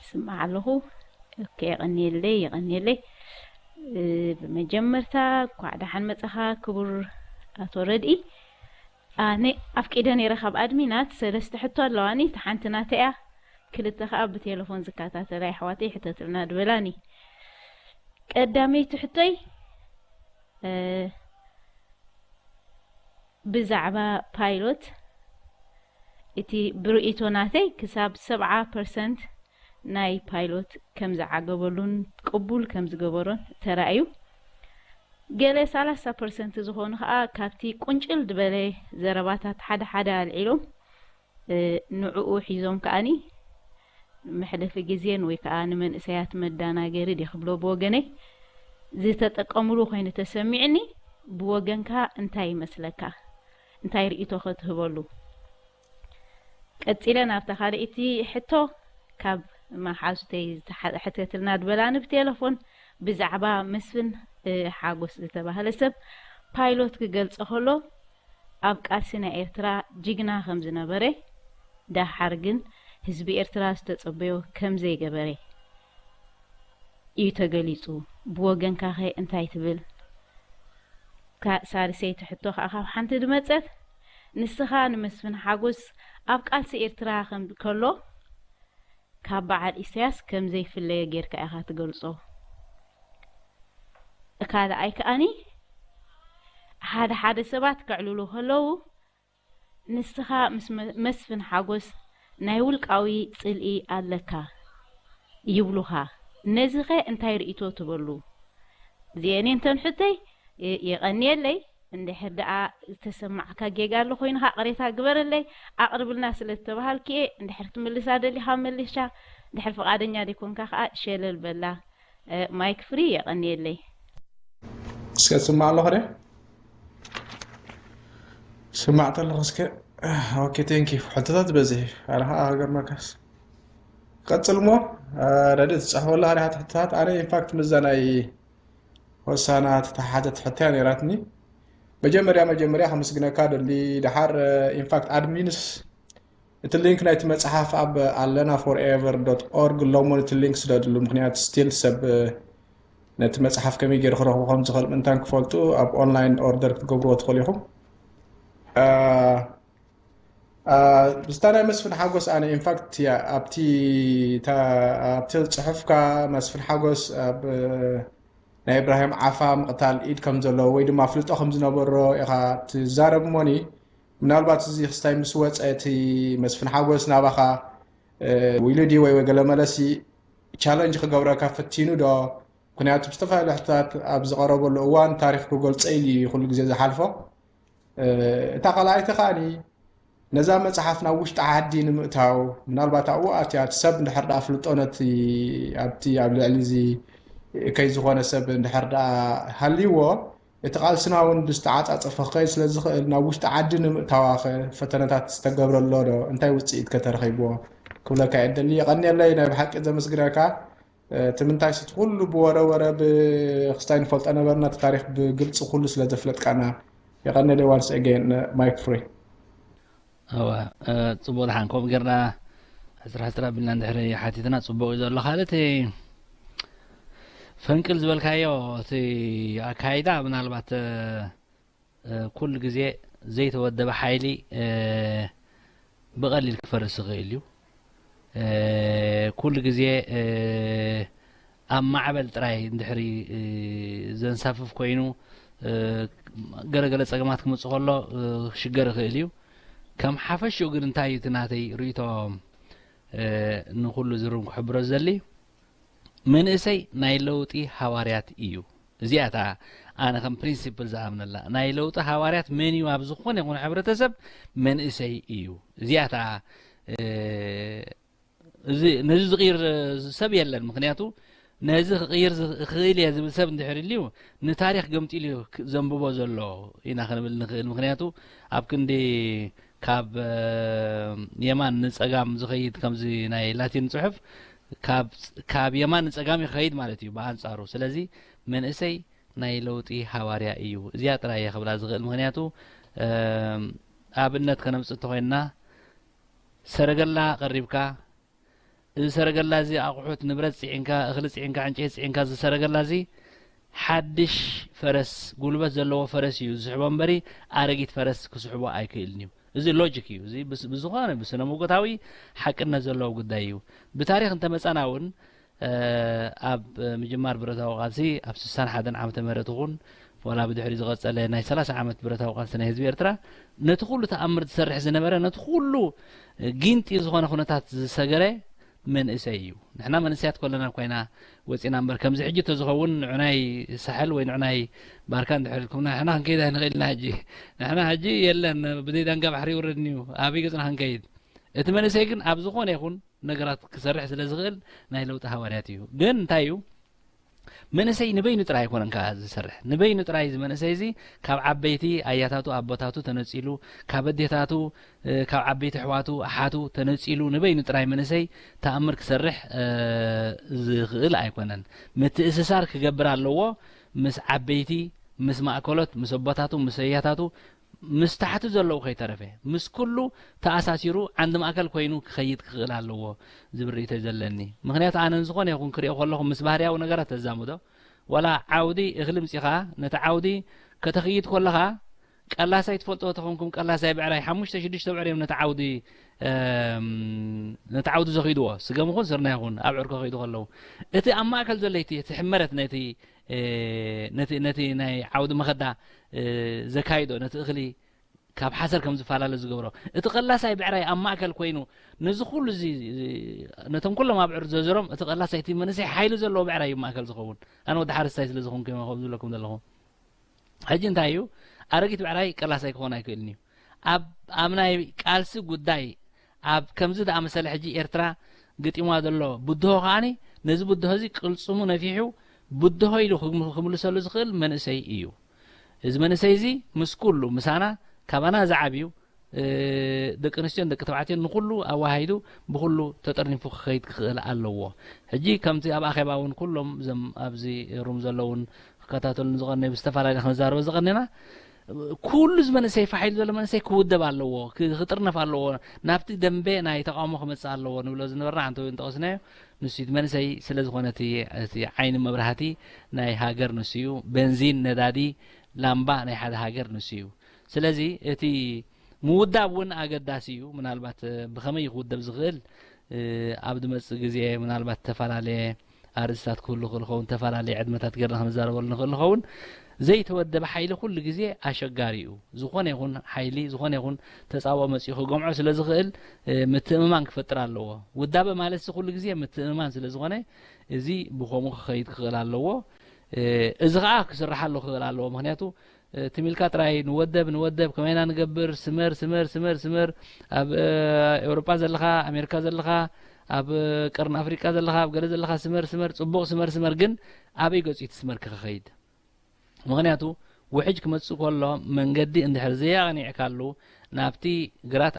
ስማዕ ኣለኹ። ኦኬ፣ የቐንየለይ፣ የቐንየለይ። ብመጀመርታ እኳዕ ደሓን መጻኻ ክቡር ኣቶ ረድኢ። ኣነ ኣፍቂደ ነይረ ካብ ኣድሚናት ሰለስተ ሕቶ ኣለዋኒ። እታ ሓንቲ ናተይ እያ፣ ክልተ ከኣ ብቴሌፎን ዝከታተላ ኣሕዋተይ ሕተትልና ድበላኒ። ቀዳመይቲ ሕቶይ ብዛዕባ ፓይሎት እቲ ብርእይቶ ናተይ ክሳብ ሰብዓ ፐርሰንት ናይ ፓይሎት ከም ዝዓገበሉን ቅቡል ከም ዝገበሮን ተራእዩ። ገለ ሰላሳ ፐርሰንት ዝኾኑ ከኣ ካብቲ ቁንጭል ዝበለ ዘረባታት ሓደ ሓደ ኣልዒሎም ንዕኡ ሒዞም ከኣኒ መሕለፊ ግዜን ወይ ከዓ ንመንእሰያት መዳናገሪ ድየ ክብሎ ብወገነይ ዝተጠቀምሉ ኮይኑ ተሰሚዕኒ። ብወገንካ እንታይ ይመስለካ? እንታይ ርእይቶ ክትህበሉ? ቀጺለ ናብታ ካልኣይቲ ሕቶ ካብ መሓዙተይ ዝተሓተትልና ድበላኒ ብቴለፎን ብዛዕባ መስፍን ሓጎስ ዝተባህለ ሰብ ፓይሎት ክገልጾ ከሎ ኣብ ቃልሲ ናይ ኤርትራ ጅግና ከም ዝነበረ፣ ደሓር ግን ህዝቢ ኤርትራ ዝተጸበዮ ከም ዘይገበረ እዩ ተገሊጹ። ብወገንካኸ እንታይ ትብል? እታ ሳልሰይቲ ሕቶ ከኣ ካብ ሓንቲ ዝመጸት፣ ንስኻ ንመስፍን ሓጎስ ኣብ ቃልሲ ኤርትራ ከም ከሎ ካብ በዓል ኢሳያስ ከም ዘይፍለዮ ጌርካ ኢኻ ትገልጾ። ካልኣይ ከኣኒ ሓደ ሓደ ሰባት ከዕልሉ ከለዉ ንስኻ ምስ መስፍን ሓጎስ ናይ ውልቃዊ ጽልኢ ኣለካ ይብሉኻ። ነዚኸ እንታይ ርእይቶ ትበሉ? እዚአን እየን እተን ሕቶይ። የቐንየለይ። እንድሕር ደኣ ዝተሰማዕካ ጌጋ ኣሎ ኮይኑ ከዓ ቅሬታ ግበረለይ። ኣቕርብልና ስለ ዝተባሃልኪ እየ። እንድሕር ትምልሳ ደሊኻ መልሻ፣ እንድሕር ፍቓደኛ ዘይኮንካ ከዓ ሸለል በላ። ማይክ ፍሪ። የቐንየለይ። እስከ ትስማዕ ኣለኹ ደ? ስማዕ ተለኹ እስከ። ኦኬ፣ ቴንክ ዩ። ሕቶታት በዝሕ ኣረኻ ሃገር መካስ ቀጽል ሞ ረዲ ትጽሕፈሉ ኣሪኻ ትሕትታት። ኣነ ኢንፋክት ምዛ ናይ ሆሳና ተተሓተት ሕቶ እያ ነይራትኒ። መጀመርያ መጀመርያ ከመስግነካ ደሊ። ደሓር ኢንፋክት ኣድሚንስ እቲ ሊንክ ናይቲ መጽሓፍ ኣብ ኣለና ፎርኤቨር ዶት ኦርግ ኣለሞ። እቲ ሊንክ ስደድሉ፣ ምክንያቱ ስቲል ሰብ ነቲ መጽሓፍ ከመይ ገይሩ ክረኽቡ ከም ዝኽእል ምእንታን ክፈልጡ ኣብ ኦንላይን ኦርደር ክትገብርዎ ትኽእሉ ኢኹም። ብዝታ ናይ መስፍን ሓጎስ ኣነ ኢንፋክት ኣብቲ ኣብቲ ጽሑፍካ መስፍን ሓጎስ ኣብ ናይ እብራሂም ዓፋ ምቕታል ኢድ ከም ዘለዎ ወይ ድማ ኣፍልጦ ከም ዝነበሮ ኢኻ ትዛረብ እሞኒ። ምናልባት እዚ ክስታይ ምስ ወፀ እቲ መስፍን ሓጎስ ናባኻ ኢሉ ድዩ ወይ ገለ መለሲ ቻለንጅ ክገብረካ ፈቲኑ ዶ? ምክንያቱ ብዝተፈላለዩ ሕቶታት ኣብ ዝቐረበሉ እዋን ታሪኽ ክገልፀ ኢሉ እዩ ኩሉ ግዜ ዝሓልፎ። እታ ካልኣይቲ ከኣኒ ነዛ መጽሓፍ ናብ ውሽጢ ዓዲ ንምእታው ምናልባት ኣብኡ ኣትያ እቲ ሰብ እንድሕር ደኣ ኣፍልጦ ነቲ ኣብቲ ኣብ ልዕሊ እዚ እከይ ዝኾነ ሰብ እንድሕር ደኣ ሃልይዎ እቲ ቃልስና እውን ብዝተዓጻጸፈ ክኸይድ ስለ ዝኽእል ናብ ውሽጢ ዓዲ ንምእታዋ ኸ ፈተነታት ዝተገብረ ኣሎ ዶ? እንታይ ውጽኢት ከ ተረኺብዎ? ክብለካ እየ ደሊ። የቐንየለይ፣ ናይ ብሓቂ ዘመስግነካ። እቲ ምንታይ ስቲ ኩሉ ብወረ ወረ ብክስታይ ንፈልጦ ነበርና፣ እቲ ታሪክ ብግልፂ ኩሉ ስለ ዘፍለጥካና። የቀነለ ዋንስ ኤጌን ማይክ ፍሪ። እወ፣ ጽቡቅ ድሓን ከምኡ ጌርና ሕፅር ሕፅር ኣቢልና እንድሕሪ ሓቲትና ጽቡቅ እዩ ዘሎ። ካልእ እቲ ፈንቅል ዝበልካዮ እቲ ኣካይዳ ምናልባት ኩሉ ግዜ ዘይተወደበ ሓይሊ ብቐሊል ክፈርስ ይኽእል እዩ። ኩሉ ግዜ ኣብ ማዕበል ጥራይ እንድሕሪ ዘንሳፍፍ ኮይኑ ገለገለ ጸገማት ክመጽእ ከሎ ክሽገር ይኽእል እዩ። ከም ሓፈሽኡ ግን እንታይ እዩ እቲ ናተይ ርእይቶ ንኹሉ ዝርም ክሕብሮ ዝደሊ መንእሰይ ናይ ለውጢ ሃዋርያት እዩ። እዚኣ እታ ኣነ ከም ፕሪንሲፕል ዝኣምነላ ናይ ለውጢ ሃዋርያት መን እዩ ኣብ ዝኾነ ይኹን ሕብረተሰብ መንእሰይ እዩ። እዚኣ እታ ነዚ ዝቕይር ሰብ የለን። ምክንያቱ ነዚ ክቕይር ክኽእል እየ ዝብል ሰብ እንድሕር ልዩ ንታሪክ ገምጢሉ እዩ ዘንብቦ ዘሎ ኢና ክንብል ንኽእል። ምክንያቱ ኣብ ክንዲ ካብ የማን ንፀጋም ዝኸይድ ከምዚ ናይ ላቲን ፅሑፍ ካብ የማን ንፀጋም ይኸይድ ማለት እዩ ብኣንፃሩ። ስለዚ መንእሰይ ናይ ለውጢ ሃዋርያ እዩ። እዚኣ ጥራይ እየ ክብላ ዝኽእል። ምክንያቱ ኣብነት ከነምፅእ እንተኮይንና ሰረገላ ቀሪብካ እዚ ሰረገላ እዚ ኣቑሑት ንብረት ፅዒንካ እኽሊ ፅዒንካ ዕንጨይቲ ፅዒንካ እዚ ሰረገላ እዚ ሓድሽ ፈረስ ጉልበት ዘለዎ ፈረስ እዩ ዝስሕቦ እምበሪ ኣረጊት ፈረስ ክስሕቦ ኣይክእልን እዩ። እዚ ሎጂክ እዩ። እዚ ብዝኾነ ብስነ መጎታዊ ሓቅነት ዘለዎ ጉዳይ እዩ። ብታሪክ እንተመፃና እውን ኣብ ምጅማር ብረታዊ ቃልሲ ኣብ ስሳን ሓደን ዓመተ ምህረት ይኹን ዋላ ብድሕሪ ዝቐጸለ ናይ ሰላሳ ዓመት ብረታዊ ቃልሲ ናይ ህዝቢ ኤርትራ ነቲ ኩሉ ተኣምር ዝሰርሕ ዝነበረ ነቲ ኩሉ ጊንጢ ዝኾነ ኩነታት ዝሰገረ መንእሰይ እዩ። ንሕና መንእሰያት ኮለና ኮይና ወፂና እምበር ከምዚ ሕጂ ተዝኸውን ንዕናይ ሳሕል ወይ ንዕናይ ባርካ እንድሕር ኢልኩምና ንሕና ክንከይድ ኣይንኽእልና። ሕጂ ንሕና ሕጂ የለን ብዘይ ዳንጋ ባሕሪ ይውረድኒ እዩ ኣበይ ገፅና ክንከይድ? እቲ መንእሰይ ግን ኣብ ዝኾነ ይኹን ነገራት ክሰርሕ ስለ ዝኽእል ናይ ለውጢ ሃዋርያት እዩ። ግን እንታይ እዩ መንእሰይ ንበይኑ ጥራይ ኣይኮነን ከዓ ዝሰርሕ። ንበይኑ ጥራይ እዚ መንእሰይ እዚ ካብ ዓበይቲ ኣያታቱ ኣቦታቱ ተነፂሉ ካብ ኣዴታቱ ካብ ዓበይቲ ኣሕዋቱ ኣሓቱ ተነፂሉ ንበይኑ ጥራይ መንእሰይ ተኣምር ክሰርሕ ዝኽእል ኣይኮነን። ምትእስሳር ክገብር ኣለዎ ምስ ዓበይቲ ምስ ማእከሎት ምስ ኣቦታቱ ምስ ኣያታቱ ምስ ታሕቲ ዘለዉ ከይተረፈ ምስ ኩሉ ተኣሳሲሩ ዓንዲ ማእከል ኮይኑ ክኸይድ ክኽእል ኣለዎ ዝብል ርእይቶ እዩ ዘለኒ። ምክንያቱ ኣነ ንዝኾነ ይኹን ክሪኦ ከለኹ ምስ ባህርያዊ ነገራት ተዛምዶ ዋላ ዓውዲ እኽሊ ምፂኻ ነቲ ዓውዲ ከተኽይድ ከለኻ ቀላሳይ ትፈልጥዎ ተኾንኩም ቀላሳይ ብዕራይ ሓሙሽተ ሽዱሽተ ብዕር እዮም ነቲ ዓውዲ ነቲ ዓውዲ ዘኽይድዎ ስገም ይኹን ስርና ይኹን ኣብ ዕርኮ ከይዱ ከለዉ እቲ ኣብ ማእከል ዘሎ እቲ ሕመረት ነቲ ነቲ ነቲ ናይ ዓውዲ መኸዳ ዘካይዶ ነቲ እኽሊ ካብ ሓሰር ከም ዝፈላለ ዝገብሮ እቲ ቀላሳይ ብዕራይ ኣብ ማእከል ኮይኑ ነዚ ኩሉ እዚ ነቶም ኩሎም ኣብ ዕር ዘዘሮም እቲ ቀላሳይ እቲ መንእሰይ ሓይሊ ዘለዎ ብዕራይ እዩ ማእከል ዝኸውን። ኣነ ወዲ ሓረስታይ ስለ ዝኾንኩ እዮም ከምኡ ዝብለኩም ዘለኹ። ሕጂ እንታይ እዩ ኣረጊት ብዕራይ ቀላሳይ ክኾን ኣይክእልን እዩ። ኣብ ኣብ ናይ ቃልሲ ጉዳይ ኣብ ከምዚ ዝኣመሰለ ሕጂ ኤርትራ ገጢምዋ ዘሎ ብድሆ ከዓኒ ነዚ ብድሆ እዚ ቅልጽሙ ነፊሑ ብድሆ ኢሉ ክምልሰሉ ዝኽእል መንእሰይ እዩ። እዚ መንእሰይ እዚ ምስ ኩሉ ምሳና ካባና ዝዓብዩ ደቂ ኣንስትዮን ደቂ ተባዕትዮን ንኩሉ ኣወሃሂዱ ብኩሉ ተጠርኒፉ ክኸይድ ክኽእል ኣለዎ። ሕጂ ከምቲ ኣብ ኣኼባ እውን ኩሎም እዞም ኣብዚ ሩም ዘለውን ክከታተሉን ዝቐነዩ ብዝተፈላለየ ክንዛረቦ ዝቐነና ኩሉ እዚ መንእሰይ ፋሕ ኢሉ ዘሎ መንእሰይ ክውደብ ኣለዎ፣ ክ- ክጥርነፍ ኣለዎ፣ ናብቲ ደንበ ናይ ተቃውሞ ክመጽእ ኣለዎ ንብሎ ዝነበርና ሓንቲ እውን ጠቐስናዮ። ንሱ እቲ መንእሰይ ስለ ዝኾነ እቲ እቲ ዓይኒ መብራህቲ ናይ ሃገር ንሱ እዩ። ቤንዚን፣ ነዳዲ፣ ላምባ ናይ ሓደ ሃገር ንሱ እዩ። ስለዚ እቲ ምውዳብ እውን ኣገዳሲ እዩ። ምናልባት ብኸመይ ክውደብ ዝኽእል ኣብ ዝመጽእ ግዜ ምናልባት ዝተፈላለየ ኣርእስታት ክህሉ ክእል ኸውን፣ ተፈላለየ ዕድመታት ገርና ክንዛረበሉ ንኽእል ንኸውን። ዘይተወደበ ሓይሊ ኩሉ ግዜ ኣሸጋሪ እዩ። ዝኾነ ይኹን ሓይሊ፣ ዝኾነ ይኹን ተጻብኦ መጺኡ ክገምዖ ስለ ዝኽእል ምትእምማን ክፈጥር ኣለዎ። ውዳበ ማለት ኩሉ ግዜ ምትእምማን ስለ ዝኾነ እዚ ብኸምኡ ክኸይድ ክኽእል ኣለዎ። እዚ ኸዓ ክስርሓሉ ክኽእል ኣለዎ። ምክንያቱ ትም ኢልካ ጥራይ ንወደብ ንወደብ ከመይና ንገብር፣ ስመር ስመር ስመር ስመር፣ ኣብ ኤውሮጳ ዘለኻ፣ ኣሜሪካ ዘለኻ፣ ኣብ ቀርኒ ኣፍሪቃ ዘለኻ፣ ኣብ ገለ ዘለኻ ስመር ስመር፣ ጽቡቕ ስመር ስመር፣ ግን ኣበይ ገጹ እቲ ስመር ክኸይድ? ምክንያቱ ውሕጅ ክመጽእ ከሎ መንገዲ እንድሕር ዘየቕኒዕካሉ ናብቲ ግራት